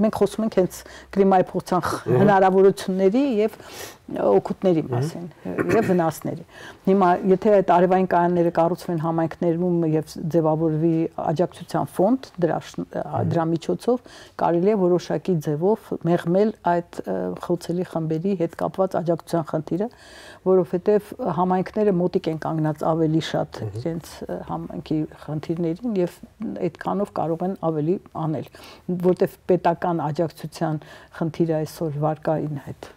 մենք խոսում ենք հենց կլիմայի փոխության հնարավորությունների եւ օգուտների մասին եւ վնասների։ Հիմա եթե այդ արևային կայանները կառուցվեն համայնքներում եւ ձևավորվի աջակցության ֆոնդ, դրա միջոցով կարելի է որոշակի ձևով մեղմել այդ խոցելի խմբերի հետ կապված աջակցության խնդիրը, որովհետեւ համայնքները մոտիկ են կանգնած ավելի շատ իրենց համայնքի խնդիրներին եւ այդքանով կարող են ավելի անել, որտեվ պետական աջակցության խնդիրը այսօր վարկային հետ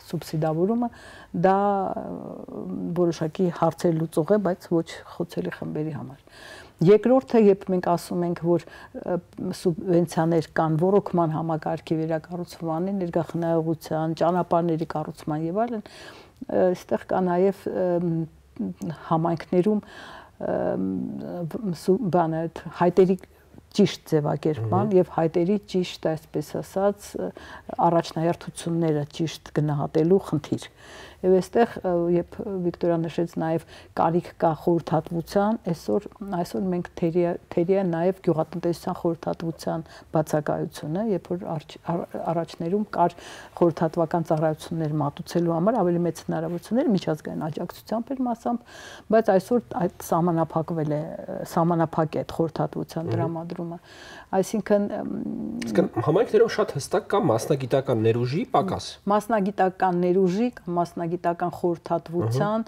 սուբսիդավորումը դա որոշակի հարցեր լուծող է, բայց ոչ խոցելի խմբերի համար։ Երկրորդը, երբ մենք ասում ենք, որ սուբվենցիաներ կան ռոռոկման համակարգի վերակառուցմանը, ներգաղթնայողության, ճանապարհների կառուցման եւ այլն, այստեղ կա նաեւ համայնքներում հայտերի ճիշտ ձևակերպման եւ հայտերի ճիշտ, այսպես ասած, առաջնահերթությունները ճիշտ գնահատելու խնդիր։ Եվ այստեղ, երբ Վիկտորիան նշեց նաև կարիք կա խորհրդատվության, այսօր մենք թերի է նաև գյուղատնտեսության խորհրդատվության բացակայությունը, երբ որ առաջներում կար խորհրդատվական ծառայություններ մատուցելու համար ավելի մեծ հնարավորություններ միջազգային աջակցությամբ էր մասամբ, բայց այսօր այդ սահմանափակվել է, սահմանափակ է այդ խորհրդատվության տրամադրումը։ Այսինքն համայնքներում շատ հստակ կա մասնագիտական ներուժի պակաս։ Մասնագիտական ներուժի, մասնագիտական խորհրդատվության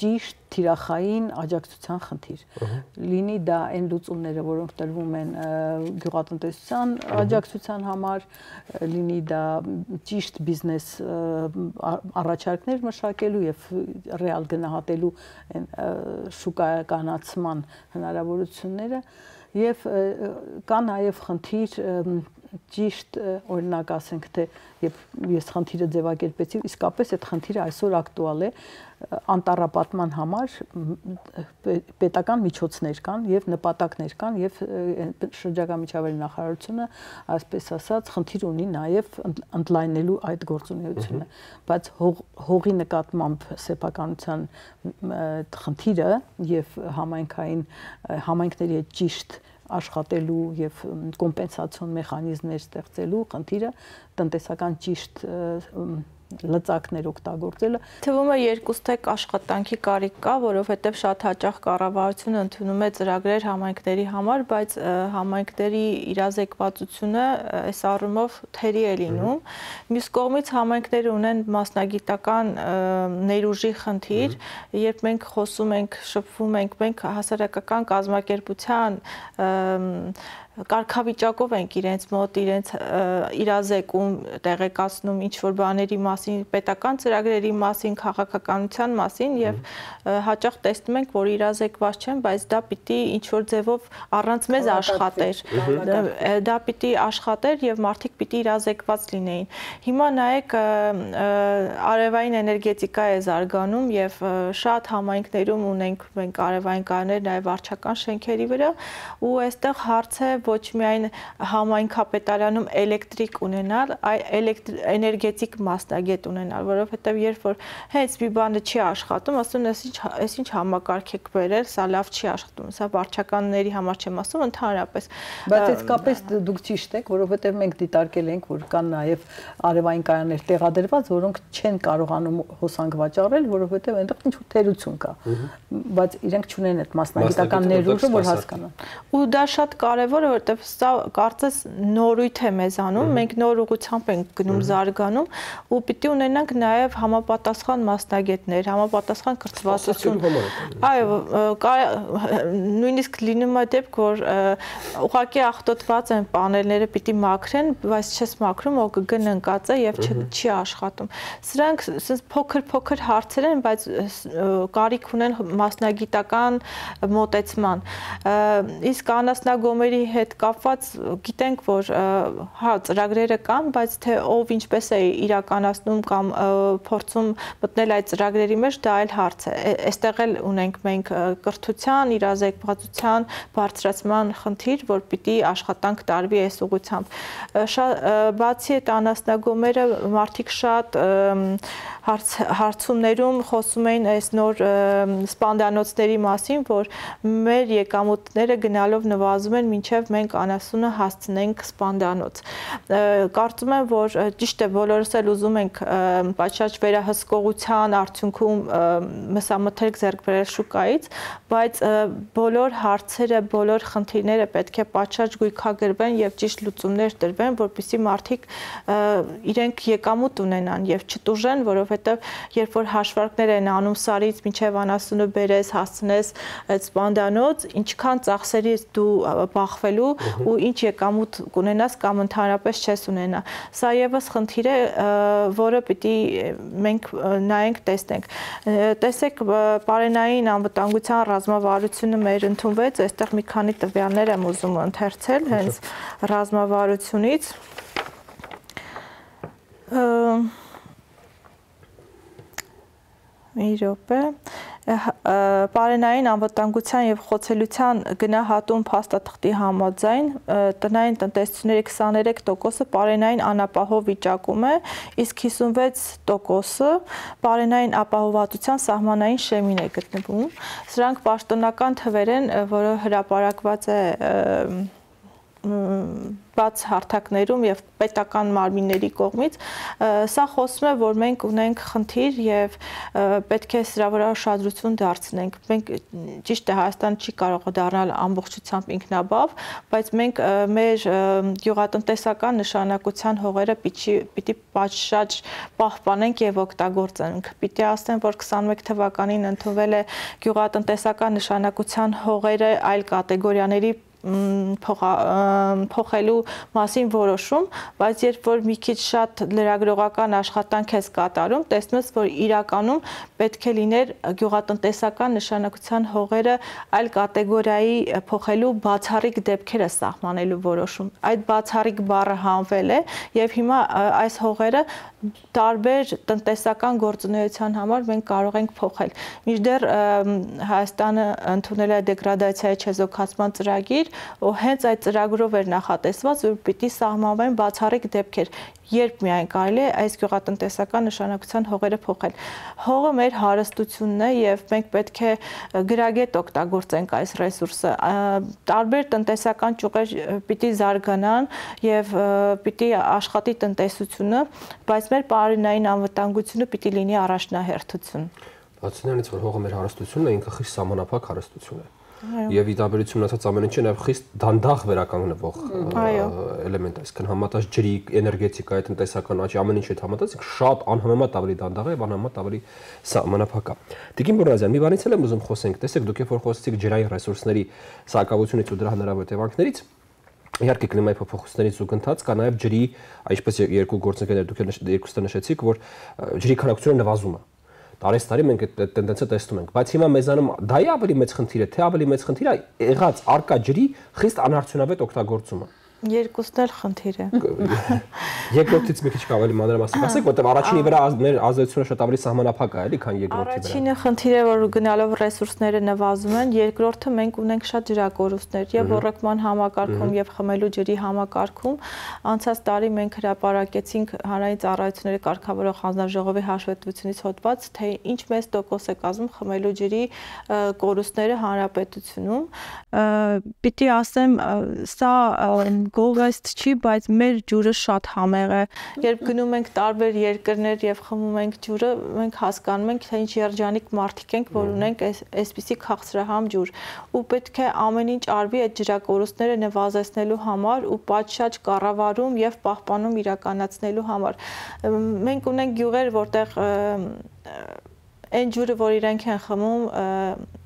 ճիշտ թիրախային աջակցության խնդիր։ Լինի դա այն լուծումները, որոնք տրվում են գյուղատնտեսության աջակցության համար, լինի դա ճիշտ բիզնես առաջարկներ մշակելու եւ ռեալ գնահատելու շուկայականացման հնարավորությունները եւ կա նաեւ խնդիր ճիշտ օրինակ ասենք թե ես խնդիրը ձևակերպեցի, իսկապես այդ խնդիրը այսօր ակտուալ է անտառապատման համար պետական միջոցներ կան եւ նպատակներ կան եւ շրջակա միջավայրի նախարարությունը այսպես ասած խնդիր ունի նաեւ ընդլայնելու այդ գործունեությունը, բայց հողի նկատմամբ սեփականության խնդիրը եւ համայնքների ճիշտ աշխատելու եւ կոմպենսացիոն մեխանիզմներ ստեղծելու խնդիրը տնտեսական ճիշտ լծակներ օգտագործելը թվում է երկուստեք աշխատանքի կարիք կա, որովհետև շատ հաճախ կառավարությունը ընդունում է ծրագրեր համայնքների համար, բայց համայնքների իրազեկվածությունը այս առումով թերի է լինում։ Մյուս կողմից համայնքները ունեն մասնագիտական ներուժի խնդիր, երբ մենք խոսում ենք, շփվում ենք, մենք հասարակական կազմակերպության կարգավիճակով ենք իրենց մոտ, իրենց իրազեկում, տեղեկացնում ինչ-որ բաների մասին, պետական ծրագրերի մասին, քաղաքականության մասին եւ հաճախ տեսնում ենք, որ իրազեկված չեն, բայց դա պիտի ինչ-որ ձևով առանց մեզ աշխատեր։ Դա պիտի աշխատեր եւ մարդիկ պիտի իրազեկված լինեին։ Հիմա նայեք, արևային էներգետիկա է զարգանում եւ շատ համայնքներում ունենք մենք արևային կայաններ նաեւ վարչական շենքերի վրա ու այստեղ հարց է ոչ միայն համայնքապետարանում էլեկտրիկ ունենալ, այլ էներգետիկ մասնագետ ունենալ, որովհետև երբ որ հենց մի բանը չի աշխատում, ասում են, այս ինչ համակարգ եք բերել, սա լավ չի աշխատում, սա վարչականների համար չեմ ասում, ընդհանրապես։ Բայց իսկապես դուք ճիշտ եք, որովհետև մենք դիտարկել ենք, որ կան նաև արևային կայաններ տեղադրված, որոնք չեն կարողանում հոսանք վաճառել, որովհետև այնտեղ ինչ-որ թերություն կա, բայց իրենք չունեն այդ մասնագիտական ներուժը, որ հասկանան։ Ու դա շատ կարևոր է, որովհետև սա կարծես նորույթ է մեզանում, մենք նոր ուղղությամբ ենք գնում զարգանում ու պիտի ունենանք նաև համապատասխան մասնագետներ, համապատասխան կրթվածություն։ Այո, նույնիսկ լինում է դեպք, որ ուղղակի աղտոտված են պանելները, պիտի մաքրեն, բայց չես մաքրում, ՕԳԳ-ն ընկած է եւ չի աշխատում։ Սրանք փոքր հարցեր են, բայց կարիք ունեն մասնագիտական մոտեցման։ Իսկ անասնագոմերի հետ կապված գիտենք, որ հա ծրագրերը կան, բայց թե ով ինչպես է իրականացնում կամ փորձում մտնել այդ ծրագրերի մեջ, դա այլ հարց է։ Այստեղ էլ ունենք մենք կրթության, իրազեկվածության բարձրացման խնդիր, որ պիտի աշխատանք տարվի այս ուղղությամբ։ Բացի այդ անասնագոմերը մարդիկ շատ հարցումներում խոսում էին այս նոր սպանդանոցների մասին, որ մեր եկամուտները գնալով նվազում են, մինչև մենք անասունը հասցնենք սպանդանոց։ Կարծում եմ, որ ճիշտ է, բոլորս էլ ուզում ենք պատշաճ վերահսկողության արդյունքում մսամթերք ձեռք բերել շուկայից, բայց բոլոր հարցերը, բոլոր խնդիրները պետք է պատշաճ գույքագրվեն եւ ճիշտ լուծումներ տրվեն, որպեսզի մարդիկ իրենք եկամուտ ունենան եւ չտուժեն, որովհետեւ երբ որ հաշվարկներ են անում սարից մինչև անասունը բերես, հասցնես այդ սպանդանոց, ինչքան ծախսերից դու բախվելու կորցնելու ու ինչ եկամուտ կունենաս կամ ընդհանրապես չես ունենա։ Սա եւս խնդիր է, որը պիտի մենք նայենք, տեսնենք։ Տեսեք, պարենային անվտանգության ռազմավարությունը մեր ընդունվեց, այստեղ մի քանի տվյալներ եմ ուզում ընթերցել հենց ռազմավարությունից։ Մի րոպե, պարենային անվտանգության եւ խոցելիության գնահատում փաստաթղթի համաձայն տնային տնտեսությունների 23%-ը պարենային անապահով վիճակում է, իսկ 56%-ը պարենային ապահովվածության սահմանային շեմին է գտնվում։ Սրանք պաշտոնական թվեր են, որը հրապարակված է բաց հարթակներում եւ պետական մարմինների կողմից, սա խոսում է, որ մենք ունենք խնդիր եւ պետք է սրա վրա ուշադրություն դարձնենք։ Մենք ճիշտ է, Հայաստանը չի կարող դառնալ ամբողջությամբ ինքնաբավ, բայց մենք մեր գյուղատնտեսական նշանակության հողերը պիտի պատշաճ պահպանենք եւ օգտագործենք։ Պիտի ասեմ, որ 21 թվականին ընդունվել է գյուղատնտեսական նշանակության հողերը այլ կատեգորիաների փոխելու մասին որոշում, բայց երբ որ մի քիչ շատ լրագրողական աշխատանք ես կատարում, տեսնում ես, որ իրականում պետք է լիներ գյուղատնտեսական նշանակության հողերը այլ կատեգորիայի փոխելու բացառիկ դեպքերը սահմանելու որոշում։ Այդ բացառիկ բառը հանվել է եւ հիմա այս հողերը տարբեր տնտեսական գործունեության համար մենք կարող ենք փոխել։ Մինչդեռ Հայաստանը ընդունել է դեգրադացիայի չեզոքացման ծրագիր, ու հենց այդ ծրագրով էր նախատեսված, որ պիտի սահմանվեն բացառիկ դեպքեր, երբ միայն կարելի է այս գյուղատնտեսական նշանակության հողերը փոխել։ Հողը մեր հարստությունն է եւ մենք պետք է գրագետ օգտագործենք այս ռեսուրսը։ Տարբեր տնտեսական ճյուղեր պիտի զարգանան եւ պիտի աշխատի տնտեսությունը, բայց մեր պարենային անվտանգությունը պիտի լինի առաջնահերթություն։ Բացի նրանից, որ հողը մեր հարստությունն է, ինքը խիստ սահմանափակ հարստություն է։ Եվ ի տարբերություն ունեցած ամեն ինչի նաև խիստ դանդաղ վերականգնվող էլեմենտ է, այսինքն համատած ջրի, էներգետիկայի, տնտեսական աճի ամեն ինչի հետ համատած շատ անհամեմատ ավելի դանդաղ է եւ անհամեմատ ավելի սահմանափակ է։ Տիկին Բորազյան, մի բանից էլ եմ ուզում խոսենք, տեսեք, դուք երբ որ խոսեցիք ջրային ռեսուրսների սակավությունից ու դրա հնարավոր հետևանքներից, իհարկե կլիմայի փոփոխություններից զուգընթաց կա նաև ջրի, այսպես երկու գործընկերներ դուք երկուստը նշեցիք, որ ջրի քանակությունը նվազում է։ Տարեստարի մենք այդ տենդենսը տեսնում ենք, բայց հիմա մեզանում դա է ավելի մեծ խնդիրը, թե ավելի մեծ խնդիրը եղած արկա ջրի խիստ անարդյունավետ օգտագործումը։ Երկուսն էլ խնդիր է։ Երկրորդից մի քիչ ավելի մանրամասն ասեք, որտեղ առաջինի վրա մեր ազդեցությունը շատ ավելի սահմանափակ է, էլի, քան երկրորդի վրա։ Առաջինը խնդիր է, որ գնալով ռեսուրսները նվազում են, երկրորդը մենք ունենք շատ ջրակորուստներ եւ ռոռոկման համակարգում եւ խմելու ջրի համակարգում։ Անցած տարի մենք հրապարակեցինք հանրային ծառայությունների կարգավորող հանձնաժողովի հաշվետվությունից հոդված, թե ինչ մեծ տոկոս է կազմում խմելու ջրի կորուստները հանրապետությունում։ Պիտի ասեմ, սա գովեստ չի, բայց մեր ջուրը շատ համեղ է։ Երբ գնում ենք տարբեր երկրներ եւ խմում ենք ջուրը, մենք հասկանում ենք, թե ինչ երջանիկ մարդիկ ենք, որ ունենք այսպիսի քաղցրահամ ջուր։ Ու պետք է ամեն ինչ արվի այդ ջրակորուստները նվազեցնելու համար ու պատշաճ կառավարում եւ պահպանում իրականացնելու համար։ Մենք ունենք գյուղեր, որտեղ այն ջուրը, որ իրենք են խմում,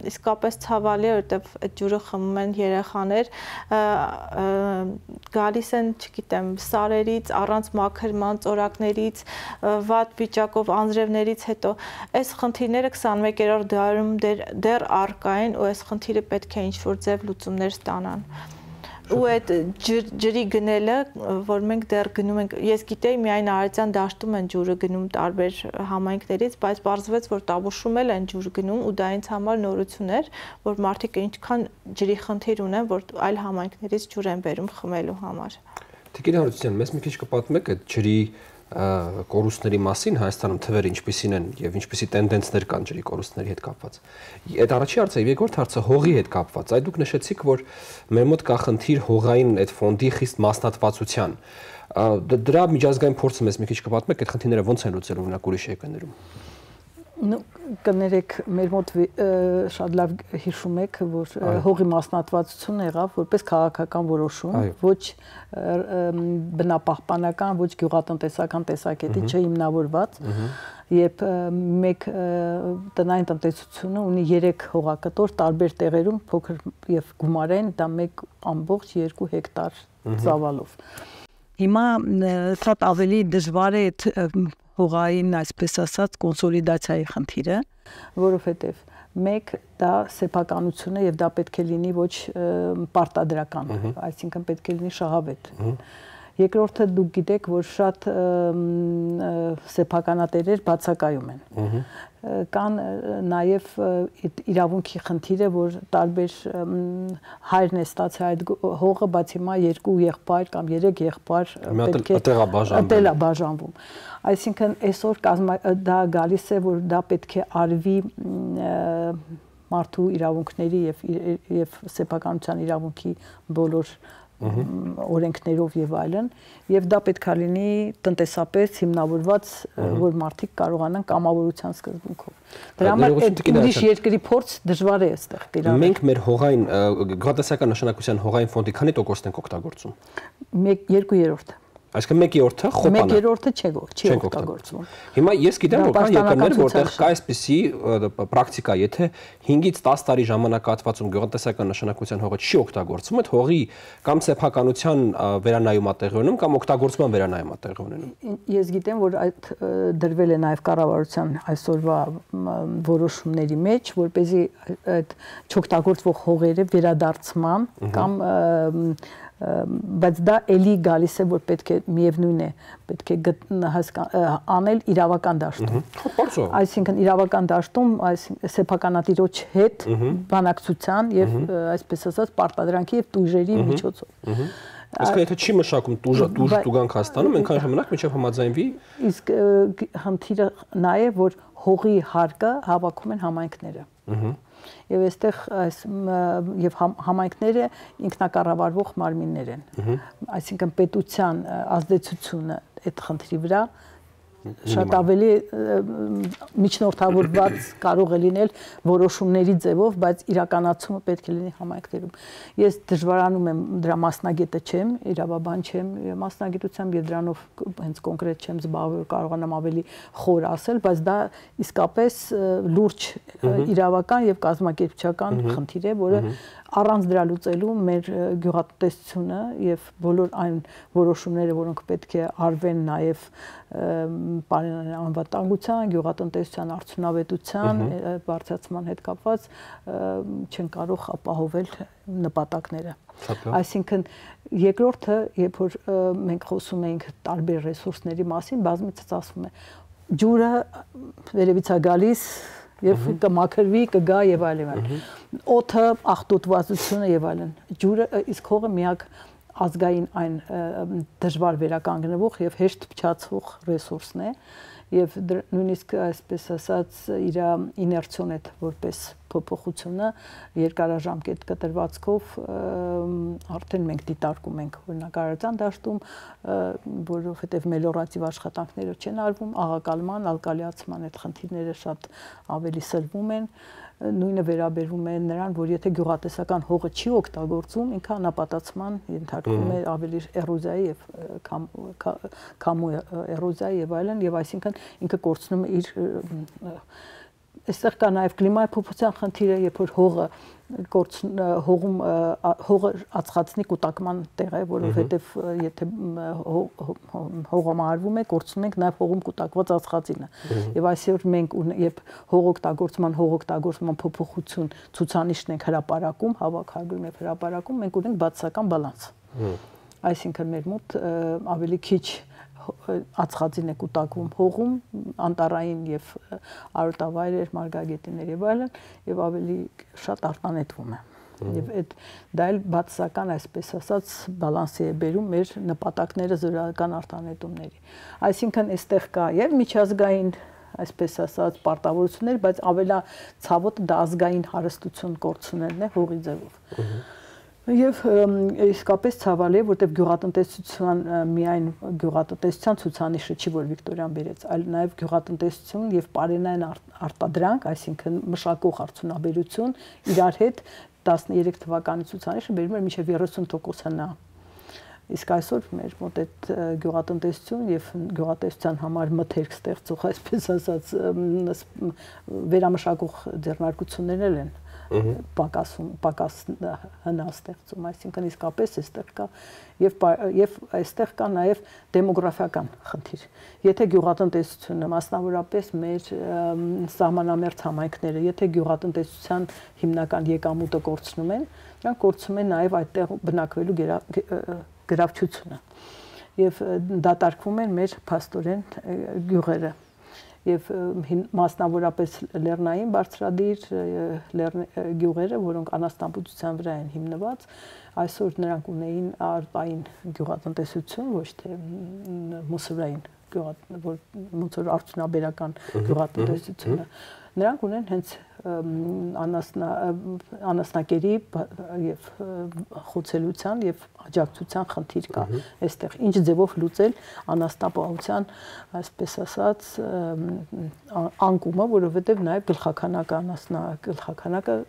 իսկապես ցավալի է, որտեղ այդ ջուրը խմում են երեխաներ, գալիս են, չգիտեմ, սարերից, առանց մաքրման, ծորակներից, վատ վիճակով անձրևներից հետո։ Այս խնդիրները 21-րդ դարում դեռ առկա են, ու այս խնդիրը պետք է ինչ-որ ձև լուծումներ ստանան։ Ու այդ ջրի գնելը, որ մենք դեռ գնում ենք, ես գիտեի միայն Արարատյան դաշտում են ջուրը գնում տարբեր համայնքներից, բայց պարզվեց, որ Տավուշում էլ են ջուր գնում ու դա ինձ համար նորություն էր, որ մարդիկ ինչքան ջրի խնդիր ունեն, որ այլ համայնքներից ջուր են բերում խմելու համար։ Տիկին Հարությունյան, մեզ մի քիչ կպատմեք այդ ջրի կորուստների մասին Հայաստանում թվերը ինչպիսին են եւ ինչպիսի տենդենսներ կան ջրի կորուստների հետ կապված։ Այդ առաջի հարցը, երկրորդ հարցը հողի հետ կապված։ Այդ դուք նշեցիք, որ մեր մոտ կա խնդիր հողային այդ ֆոնդի խիստ մասնատվածության։ Դրա միջազգային փորձը մեզ մի քիչ կպատմեք, այդ խնդիրները ոնց են լուծելու օրինակ ուրիշ երկրներում։ Կներեք, մեր մոտ շատ լավ հիշում եք, որ հողի մասնատվածություն եղավ որպես քաղաքական որոշում, ոչ բնապահպանական, ոչ գյուղատնտեսական տեսակետի չհիմնավորված, երբ մեկ տնային տնտեսությունը ունի 3 հողակտոր տարբեր տեղերում փոքր եւ գումարեն դա 1.2 հեկտար ծավալով։ Հիմա շատ ավելի դժվար է այդ հողային, այսպես ասած, կոնսոլիդացիայի խնդիրը, որովհետեւ մեկ դա սեփականություն է եւ դա պետք է լինի ոչ պարտադրական, այսինքն պետք է լինի շահավետ։ Երկրորդը դուք գիտեք, որ շատ սեփականատերեր բացակայում են։ Կան նաև իրավունքի խնդիրը, որ տարբեր հայրն է ստացել այդ հողը, բայց հիմա 2 եղբայր կամ 3 եղբայր պետք է տեղաբաժանվում։ Այսինքն այսօր դա գալիս է, որ դա պետք է արվի մարդու իրավունքների եւ սեփականության իրավունքի բոլոր օրենքներով եւ այլն, եւ դա պետք է լինի տնտեսապես հիմնավորված, որ մարդիկ կարողանան կամավորության սկզբունքով։ Դրա համար այդ ուրիշ երկրի փորձ դժվար է այստեղ կիրառել։ Մենք մեր հողային գյուղատնտեսական նշանակության հողային ֆոնդի քանի տոկոսն ենք օգտագործում։ 2/3։ Այսինքն 1/3-ը խոպան է։ 1/3-ը չի օգտագործվում։ Հիմա ես գիտեմ, որ կան երկրներ, որտեղ կա այսպիսի պրակտիկա, եթե 5-ից 10 տարի ժամանակահատվածում գյուղատնտեսական նշանակության հողը չի օգտագործվում, այդ հողի կամ սեփականության վերանայում է տեղի ունենում, կամ օգտագործման վերանայում է տեղի ունենում։ Ես գիտեմ, որ այդ դրվել է նաև կառավարության այսօրվա որոշումների մեջ, որպեսզի այդ չօգտագործվող հողերը վերադարձման կամ բայց դա էլի գալիս է, որ պետք է միևնույն է, պետք է անել իրավական դաշտում։ Այսինքն իրավական դաշտում սեփականատիրոջ հետ բանակցության եւ այսպես ասած պարտադրանքի եւ տույժերի միջոցով։ Իսկ եթե չի մշակում տուգանք հաստանում, այնքան ժամանակ մինչև համաձայնվի։ Իսկ խնդիրը նա է, որ հողի հարկը հավաքում են համայնքները։ Եվ այստեղ եւ համայնքները ինքնակառավարվող մարմիններ են։ Այսինքն պետության ազդեցությունը այդ խնդրի վրա շատ ավելի միջնորդավորված կարող է լինել որոշումների ձևով, բայց իրականացումը պետք է լինի համայնքներում։ Ես դժվարանում եմ դրա մասնագետը չեմ, իրավաբան չեմ, մասնագիտությամբ եւ դրանով հենց կոնկրետ չեմ զբաղվել, կարողանամ ավելի խոր ասել, բայց դա իսկապես լուրջ իրավական եւ կազմակերպչական խնդիր է, որը առանց դրա լուծելու մեր գյուղատնտեսությունը եւ բոլոր այն որոշումները, որոնք պետք է արվեն նաեւ պարենային անվտանգության, գյուղատնտեսության արդյունավետության բարձրացման հետ կապված չեն կարող ապահովել նպատակները։ Այսինքն երկրորդը, երբ որ մենք խոսում ենք տարբեր ռեսուրսների մասին, բազմիցս ասվում է ջուրը վերևից է գալիս եւ կմաքրվի, կգա եւ այլն։ Օդը, աղտոտվածությունը եւ այլն։ Ջուրը իսկ հողը միակ ազգային այն դժվար վերականգնվող եւ հեշտ փչացվող ռեսուրսն է եւ նույնիսկ այսպես ասած իր իներցիոն որպես փոփոխությունը երկարաժամկետ կտրվածքով արդեն մենք դիտարկում ենք օրինակարարության դաշտում, որովհետեւ մելիորատիվ աշխատանքները չեն արվում, աղակալման, ալկալիացման այդ խնդիրները շատ ավելի սլվում են։ Նույնը վերաբերվում է նրան, որ եթե գյուղատնտեսական հողը չի օգտագործվում, ինքը անապատացման ենթարկվում է ավելի էրոզիայի եւ քամու էրոզիայի եւ այլն, եւ այսինքն ինքը կորցնում է իր այստեղ կա նաև կլիմայի փոփոխության խնդիրը, երբ որ հողը ածխածնի կուտակման տեղ է, որովհետև եթե հողը մարվում է, կորցնում ենք նաև հողում կուտակված ածխածինը։ Եվ այսօր մենք երբ հողօգտագործման փոփոխություն ցուցանիշն ենք հրապարակում, հավաքագրում եւ հրապարակում, մենք ունենք բացասական բալանս։ Այսինքն մեր մոտ ավելի քիչ ածխածին է կուտակվում հողում, անտառային եւ արոտավայրեր, մարգագետիններ եւ այլն, եւ ավելի շատ արտանետվում է։ Եվ դա էլ բացասական, այսպես ասած, բալանսի է բերում մեր նպատակները զորական արտանետումների։ Այսինքն այստեղ կա եւ միջազգային, այսպես ասած, պարտավորություններ, բայց ավելա ցավոտ դա ազգային հարստություն կորցնելն է հողի ձևով։ Եվ իսկապես ցավալի է, որտեղ գյուղատնտեսության միայն գյուղատնտեսության ցուցանիշը չի, որ Վիկտորիան բերեց, այլ նաև գյուղատնտեսություն եւ պարենային արտադրանք, այսինքն մշակող արդյունաբերություն, իրար հետ 13 թվականի ցուցանիշը բերում էր մինչև 30%-ը նա։ Իսկ այսօր մեր մոտ այդ գյուղատնտեսություն եւ գյուղատնտեսության համար մթերք ստեղծող, այսպես ասած, վերամշակող ձեռնարկություններ են պակաս հնաստեղծում, այսինքն իսկապես այստեղ կա եւ այստեղ կա նաեւ դեմոգրաֆիական խնդիր։ Եթե գյուղատնտեսությունը, մասնավորապես մեր սահմանամերձ համայնքները, եթե գյուղատնտեսության հիմնական եկամուտը կորցնում են, նրանք կորցնում են նաեւ այդտեղ բնակվելու գրավչությունը եւ դատարկվում են մեր փաստորեն գյուղերը եւ մասնավորապես լեռնային բարձրադիր գյուղերը, որոնք անաստանբուծության վրա են հիմնված, այսօր նրանք ունեին արտային գյուղատնտեսություն, ոչ թե մուսորային մուսոր արդյունաբերական գյուղատնտեսությունը։ Նրանք ունեն հենց անասնակերի եւ խոցելության եւ աջակցության խնդիր կա այստեղ։ Ինչ ձևով լուծել անաստապահության, այսպես ասած, անկումը, որովհետեւ նաեւ գլխականակը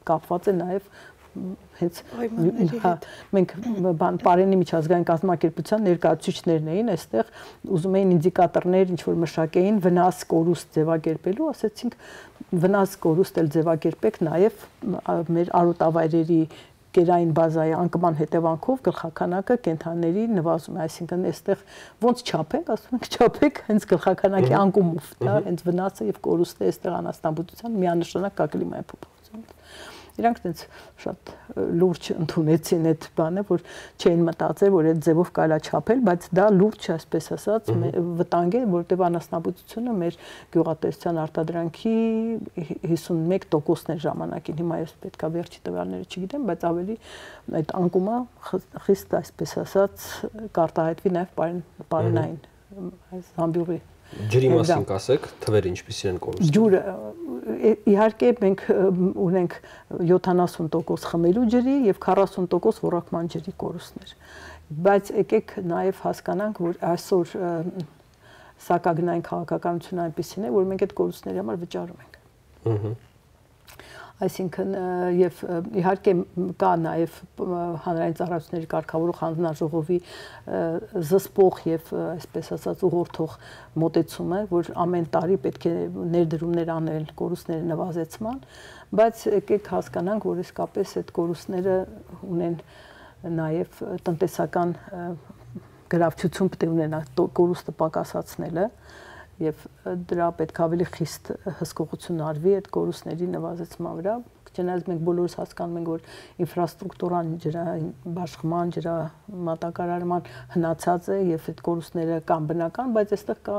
կապված է նաեւ հենց մենք Պարենի միջազգային կազմակերպության ներկայացուցիչներն էին այստեղ, ուզում էին ինդիկատորներ ինչ որ մշակեին վնաս կորուստ ձևակերպելու, ասեցինք վնաս կորուստ էլ ձևակերպեք նաև մեր արոտավայրերի գերային բազայի անկման հետևանքով գլխականակը կենթանիների նվազում է, այսինքն այստեղ ոնց չափենք, ասում ենք չափեք հենց գլխականակի անկումով, դա հենց վնասը եւ կորուստը այստեղ անաստանբուծության միանշանակ կա կլիմայի փոփոխություն։ Իրանք այնց շատ լուրջ ընդունեցին այդ բանը, որ չէին մտածել, որ այդ ձևով կարելի չափել, բայց դա լուրջ, այսպես ասած, վտանգ է, որտեղ անասնաբուծությունը մեր գյուղատնտեսության արտադրանքի 51%-ն է ժամանակին, հիմա ես պետքա վերջի տվյալները չգիտեմ, բայց ավելի այդ անկումը խիստ, այսպես ասած, կարտահայտվի նաև պարենային այս համբյուղի Ջրի մասին կասեք, թվերը ինչպիսին են կորուստը։ Ջուրը իհարկե մենք ունենք 70% խմելու ջրի եւ 40% ոռոգման ջրի կորուստներ։ Բայց եկեք նաեւ հասկանանք, որ այսօր սակագնային քաղաքականությունը այնպեսին է, որ մենք այդ կորուստների համար վճարում ենք։ Այսինքն եւ իհարկե կա նաեւ հանրային ծառայությունների կարգավորող հանձնաժողովի զսպող եւ այսպես ասած ուղղորդող մոտեցումը, որ ամեն տարի պետք է ներդրումներ անել կորուստների նվազեցման, բայց եկեք հասկանանք, որ իսկապես այդ կորուստները ունեն նաեւ տնտեսական գրավչություն պետք է ունենա կորուստը պակասացնելը եւ դրա պետք ավելի խիստ հսկողություն արվի այդ կորուստների նվազեցման վրա, չնայած մենք բոլորս հասկանում ենք, որ ինֆրաստրուկտուրան ջրային բաշխման, ջրամատակարարման հնացած է եւ այդ կորուստները կան բնական, բայց այստեղ կա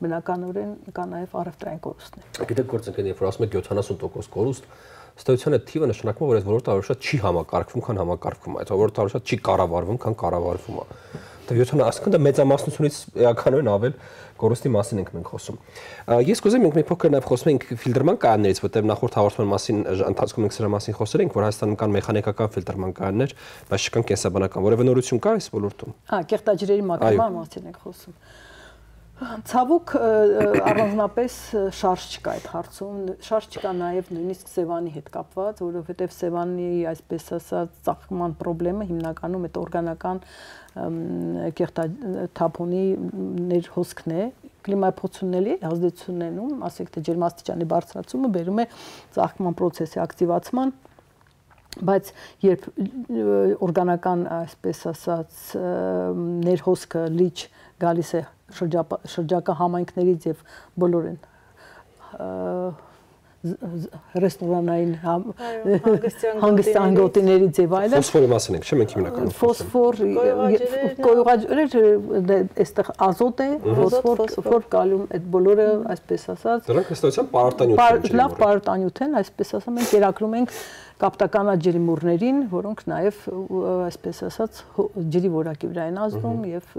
բնականորեն կա նաեւ առևտրային կորուստներ։ Գիտեք, գործընկերներ, որ ասում եք 70% կորուստ, ըստեյության այդ թիվը նշանակում է, որ այս ոլորտը ավելի շատ չի համակարգվում, քան համակարգվում է, այդ ոլորտը ավելի շատ չի կառավարվում, քան կառավարվում է։ Դա 70, ասկան դա մեծամասնությունից էականորեն ավել կորուստի մասին ենք մենք խոսում։ Ես կուզեմ մենք մի փոքր նաև խոսում ենք ֆիլտրման կայաններից, որտեղ նախորդ հաղորդման մասին ընթացքում մենք սրա մասին խոսել ենք, որ Հայաստանում կան մեխանիկական ֆիլտրման կայաններ, բայց չկան կենսաբանական։ Որևէ նորություն կա այս ոլորտում։ Կեղտաջրերի մակարդման մասին ենք խոսում։ Ցավոք առանձնապես շարժ չկա այդ հարցում, շարժ չկա նաև նույնիսկ Սևանի հետ կապված, որովհետև Սևանի այսպես ասած ծաղկման խնդրեմը հիմնականում այդ օրգանական կեղտաթափոնի ներհոսքն է, կլիմայի փոփոխությունների ազդեցություններում, ասենք թե ջերմաստիճանի բարձրացումը բերում է ծաղկման process-ի ակտիվացման, բայց երբ օրգանական այսպես ասած ներհոսքը լիճ գալիս է շրջակա համայնքներից եւ բոլոր են ռեստորանային հանգստյան գոտիներից եւ այլն ֆոսֆորի մասին ենք, չէ՞ մենք հիմնականում ֆոսֆոր կոյուղաջրեր այստեղ ազոտ է, ֆոսֆոր, կալիում, այդ բոլորը այսպես ասած դրանք ըստեյության պարարտանյութ են, լավ պարարտանյութ են, այսպես ասած մենք կերակրում ենք կապտականաջրի մուրներին, որոնք նաև այսպես ասած ջրի որակի վրա են ազդում եւ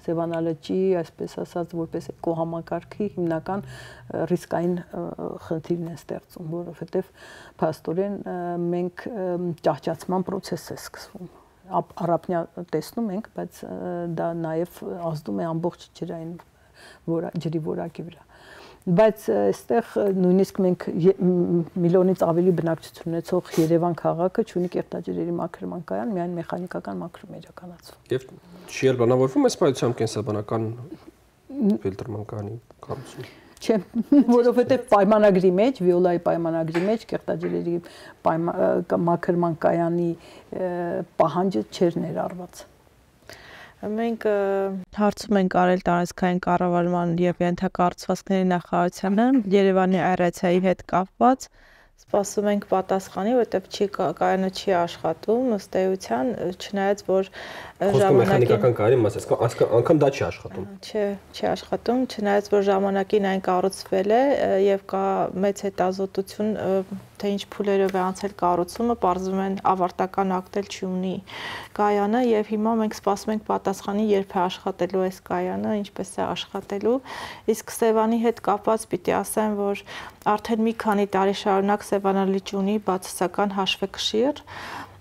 Սևանալճի այսպես ասած որպես էկոհամակարգի հիմնական ռիսկային խնդիրն է ստեղծում, որովհետեւ փաստորեն մենք ճահճացման process է սկսվում։ Առափնյա տեսնում ենք, բայց դա նաև ազդում է ամբողջ ջրի որակի վրա։ բայց այստեղ նույնիսկ մենք միլիոնից ավելի բնակչություն ունեցող Երևան քաղաքը ունի կերտաջրերի մաքրման կայան, միայն մեխանիկական մաքրում է իրականացվում։ Եվ չի էլ բնավորվում այս պայությամբ կենսաբանական ֆիլտրման կայանի կառուցումը։ Չէ, որովհետև պայմանագրի մեջ, Վիոլայի պայմանագրի մեջ կերտաջրերի մաքրման կայանի պահանջը չէր ներառված։ Մենք հարցում ենք արել տարածքային կառավարման եւ ենթակառուցվածքների նախարարությանը Երևանի այռացիայի հետ կապված, սպասում ենք պատասխանի, որովհետեւ կայանը չի աշխատում, ըստ էության, չնայած որ ժամանակին կայանի մասը, անգամ դա չի աշխատում։ Չի աշխատում, չնայած որ ժամանակին այն կառուցվել է եւ կա մեծ հետազոտություն, թե ինչ փուլերով է անցել կառուցումը, պարզվում են ավարտական ակտել չունի կայանը եւ հիմա մենք սպասում ենք պատասխանի, երբ է աշխատելու այս կայանը, ինչպես է աշխատելու։ Իսկ Սևանի հետ կապված պիտի ասեմ, որ արդեն մի քանի տարի շարունակ Սևանալիճ ունի բացասական հաշվեկշիռ,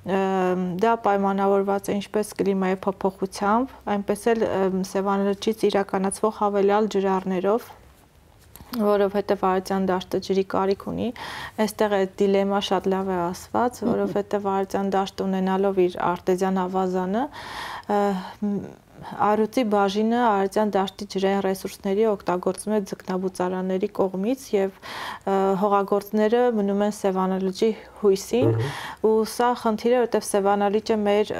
դա պայմանավորված է ինչպես կլիմայի փոփոխությամբ, այնպես էլ Սևանալիճից իրականացվող հավելյալ ջրառներով, որովհետև Արարատյան դաշտը ջրի կարիք ունի, այստեղ է դիլեմա շատ լավ է ասված, որովհետև Արարատյան դաշտը ունենալով իր արտեզյան ավազանը, Արուծի բաժինը Արարատյան դաշտի ջրային ռեսուրսների օգտագործում է ձկնաբուծարանների կողմից եւ հողագործները մնում են Սևանալիճի հույսին, ու սա խնդիր է, որովհետև Սևանալիճը մեր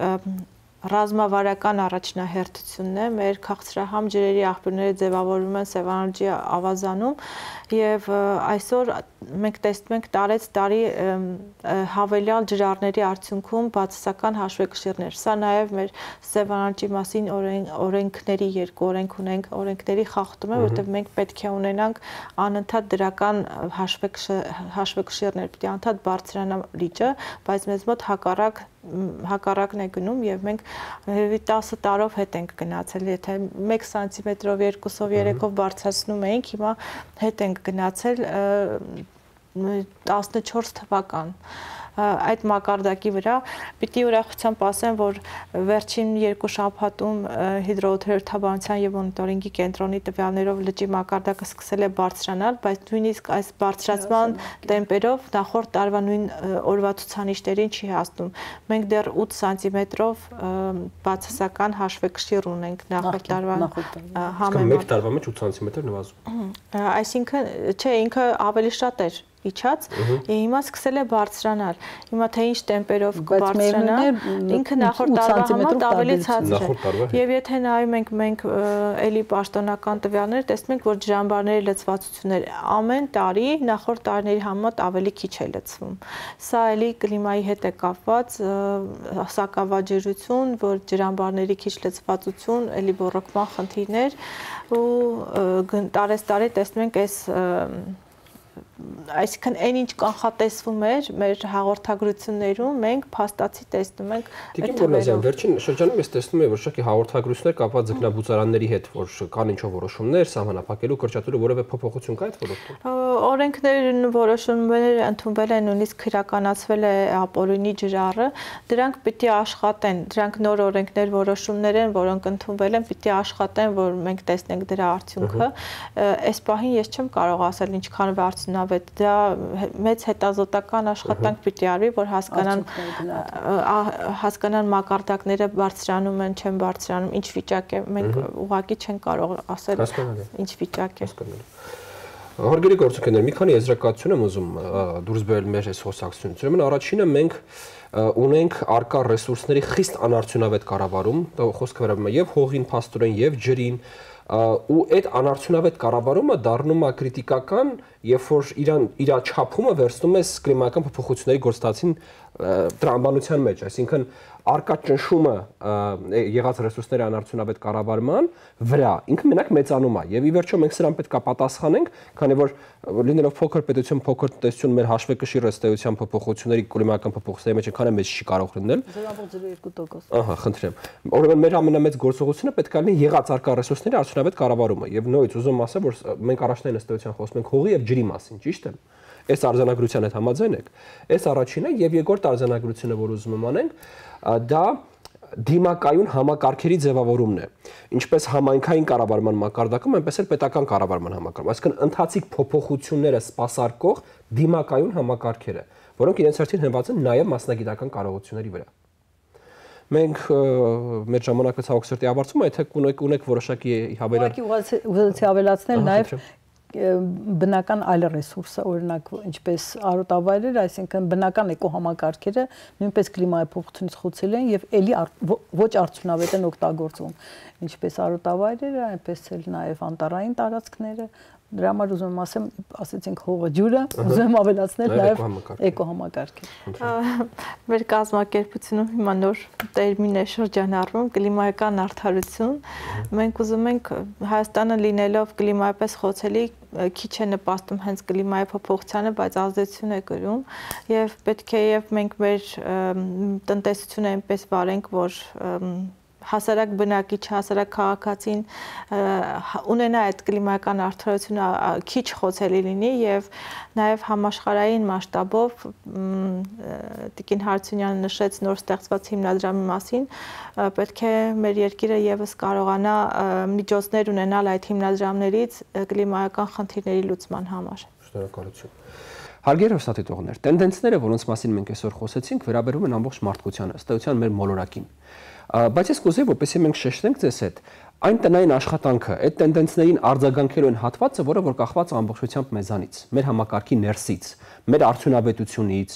ռազմավարական առաջնահերթությունն է, մեր քաղցրահամ ջրերի աղբյուրները ձևավորվում են Սևանալիճի ավազանում եւ այսօր մենք տեսնում ենք տարեց տարի հավելյալ ջրառների արդյունքում բացասական հաշվեկշիռներ։ Սա նաեւ մեր Սևանալիճի մասին օրենքների երկու օրենք ունենք, օրենքների խախտում է, որովհետեւ մենք պետք է ունենանք անընդհատ դրական հաշվեկշիռներ, պետք է անընդհատ բարձրանա լիճը, բայց մեզ մոտ հակառակն է գնում եւ մենք 10 տարով հետ ենք գնացել, եթե 1 սանտիմետրով, 2-ով, 3-ով բարձրացնում էինք, հիմա հետ ենք գնացել 14 թվական։ Այդ մակարդակի վրա պիտի ուրախությամբ ասեմ, որ վերջին 2 շաբաթում հիդրոօթերոթաբանության եւ մոնիտորինգի կենտրոնի տվյալներով լճի մակարդակը սկսել է բարձրանալ, բայց նույնիսկ այս բարձրացման տեմպերով նախորդ տարվա նույն օրվա ցուցանիշներին չի հասնում։ Մենք դեռ 8 սանտիմետրով բացասական հաշվեկշիռ ունենք նախորդ տարվա համեմատ։ Մեկ տարվա մեջ 8 սանտիմետր նվազում։ Այսինքն, չէ, ինքը ավելի շատ էր իջած, հիմա սկսել է բարձրանալ։ Հիմա թե ինչ տեմպերով կբարձրանա, ինքը նախորդ տարվա համեմատ ավելի ցածր է։ Եվ եթե նայում ենք մենք էլի պաշտոնական տվյալները, տեսնում ենք, որ ջրամբարների լցվածությունները ամեն տարի նախորդ տարիների համեմատ ավելի քիչ է լցվում։ Սա էլի կլիմայի հետ է կապված, սակավաջրություն, որ ջրամբարների քիչ լցվածություն, էլի բոռոկման խնդիրներ ու տարեստարի տեսնում ենք այս այսինքն այն ինչ կանխատեսվում էր մեր հաղորդագրություններում, մենք փաստացի տեսնում ենք այդ թվերով։ Վերջին շրջանում ես տեսնում եմ, որ շոկի հաղորդագրություններ կապված ձկնաբուծարանների հետ, որ կան ինչ-որ որոշումներ, սահմանափակելու, կրճատելու որևէ փոփոխություն կա այդ ոլորտում։ Օրենքներն որոշումներ ընդունվել են, նույնիսկ իրականացվել է ապօրինի ջրառը, դրանք պիտի աշխատեն, դրանք նոր օրենքներ, որոշումներ են, որոնք ընդունվել են, պիտի աշխատեն, որ մենք տեսնենք դրա արդյունքը։ Այս պահին ես չեմ կարող ասել ինչքան արդյունավետ, դա մեծ հետազոտական աշխատանք պիտի արվի, որ հասկանան մակարդակները բարձրանում են, չեն բարձրանում, ինչ վիճակ է, մենք ուղղակի չեն կարող ասել ինչ վիճակ է։ Հարգելի գործընկերներ, մի քանի եզրակացություն եմ ուզում դուրս բերել մեր այս խոսակցությունից։ Ուրեմն առաջինը մենք ունենք արկա ռեսուրսների խիստ անարդյունավետ կառավարում, խոսքը վերաբերում է եւ հողին, փաստորեն եւ ջրին, ու այդ անարդյունավետ կառավարումը դառնում է կրիտիկական, երբ որ իր չափումը վերցնում է կլիմայական փոփոխությունների գործընթացին տրամաբանության մեջ, այսինքն արկա ճնշումը եղած ռեսուրսների անարդյունավետ կառավարման վրա ինքը մենակ մեծանում է եւ ի վերջո մենք սրան պետք է պատասխանենք, քանի որ լինելով փոքր պետություն, փոքր տնտեսություն մեր հաշվեկշիռ ըստեյության փոփոխությունների կլիմայական փոփոխությունների մեջ այնքան մեծ չի կարող լինել 0.02%։ Ահա, խնդրեմ։ Ուրեմն մեր ամենամեծ գործողությունը պետք է լինի եղած արկա ռեսուրսների արդյունավետ կառավարումը եւ նույնիսկ ուզում ասեմ, որ մենք առաջնային ըստեյության խոսում ենք հողի եւ ջրի մասին, ճիշտ է։ Այս արձանագրության հետ համաձայն եք։ Այս առաջինը եւ երկրորդ արձանագրությունը, որ ուզում եմ անենք, դա դիմակայուն համակարգերի ձևավորումն է։ Ինչպես համայնքային կառավարման մակարդակում, այնպես էլ պետական կառավարման համակարգում։ Այսինքն ընթացիկ փոփոխությունները սպասարկող դիմակայուն համակարգերը, որոնք իրենց հերթին հենված են նաև մասնագիտական կարողությունների վրա։ Մենք մեր ժամանակը ցավոք սրտի ավարտվում է, եթե ունեք որոշակի հավելյալ։ Ուղղակի ավելացնել նաև բնական այլ ռեսուրսը, օրինակ ինչպես արոտավայրեր, այսինքն բնական էկոհամակարգերը նույնպես կլիմայի փոփոխությունից խոցել են եւ ելի ոչ արդյունավետ են օգտագործվում, ինչպես արոտավայրերը, այնպես էլ նաեւ անտառային տարածքները։ Դրա համար ուզում եմ ասեմ, ասեցինք հողը ջուրը, ուզում եմ ավելացնել նաև էկոհամակարգը։ Մեր կազմակերպությունում հիմա նոր տերմին է շրջանառվում կլիմայական արդարություն։ Մենք ուզում ենք Հայաստանը լինելով կլիմայապես խոցելի քիչ է նպաստում հենց կլիմայի փոփոխությանը, բայց ազդեցություն է կրում եւ պետք է եւ մենք մեր տնտեսությունը այնպես վարենք, որ հասարակ բնակիչ, հասարակ քաղաքացին ունենա այդ կլիմայական արդարությունը քիչ խոցելի լինի եւ նաեւ համաշխարհային մասշտաբով Տիկին Հարությունյանը նշեց նոր ստեղծված հիմնադրամի մասին, պետք է մեր երկիրը եւս կարողանա միջոցներ ունենալ այդ հիմնադրամներից կլիմայական խնդիրների լուծման համար։ Շնորհակալություն։ Հարգելի հեռուստադիտողներ, տենդենսները, որոնց մասին մենք այսօր խոսեցինք, վերաբերում են ամբողջ մարդկությանը, ըստ էության մեր մոլորակին։ Բայց ես կուզեի, որպեսզի մենք շեշտենք ձեզ հետ, այն տնային աշխատանքը, այդ տենդենսներին արձագանքելու այն հատվածը, որը որ կախված է ամբողջությամբ մեզանից, մեր համակարգի ներսից, մեր արդյունավետությունից,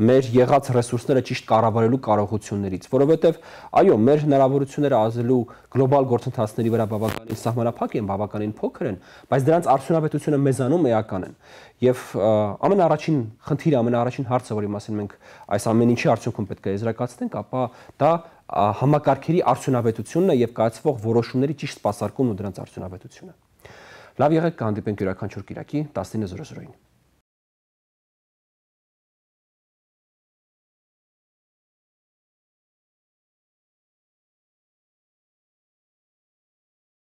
մեր եղած ռեսուրսները ճիշտ կառավարելու կարողություններից, որովհետև այո, մեր հնարավորությունները ազդելու գլոբալ գործընթացների վրա բավականին սահմանափակ են, բավականին փոքր են, բայց դրանց արդյունավետությունը մեզանում էական են։ Եվ ամենաառաջին խնդիրը, ամենաառաջին հարցը, որի մասին մենք այս ամեն ինչի արդյունքում պետք է եզրակացնենք, ապա դա համակարգերի արդյունավետությունն է եւ կայացվող որոշումների ճիշտ սպասարկումն ու դրանց արդյունավետությունը։ Լավ եղեք, կհանդիպենք յուրաքանչյուր կիրակի 19:00-ին։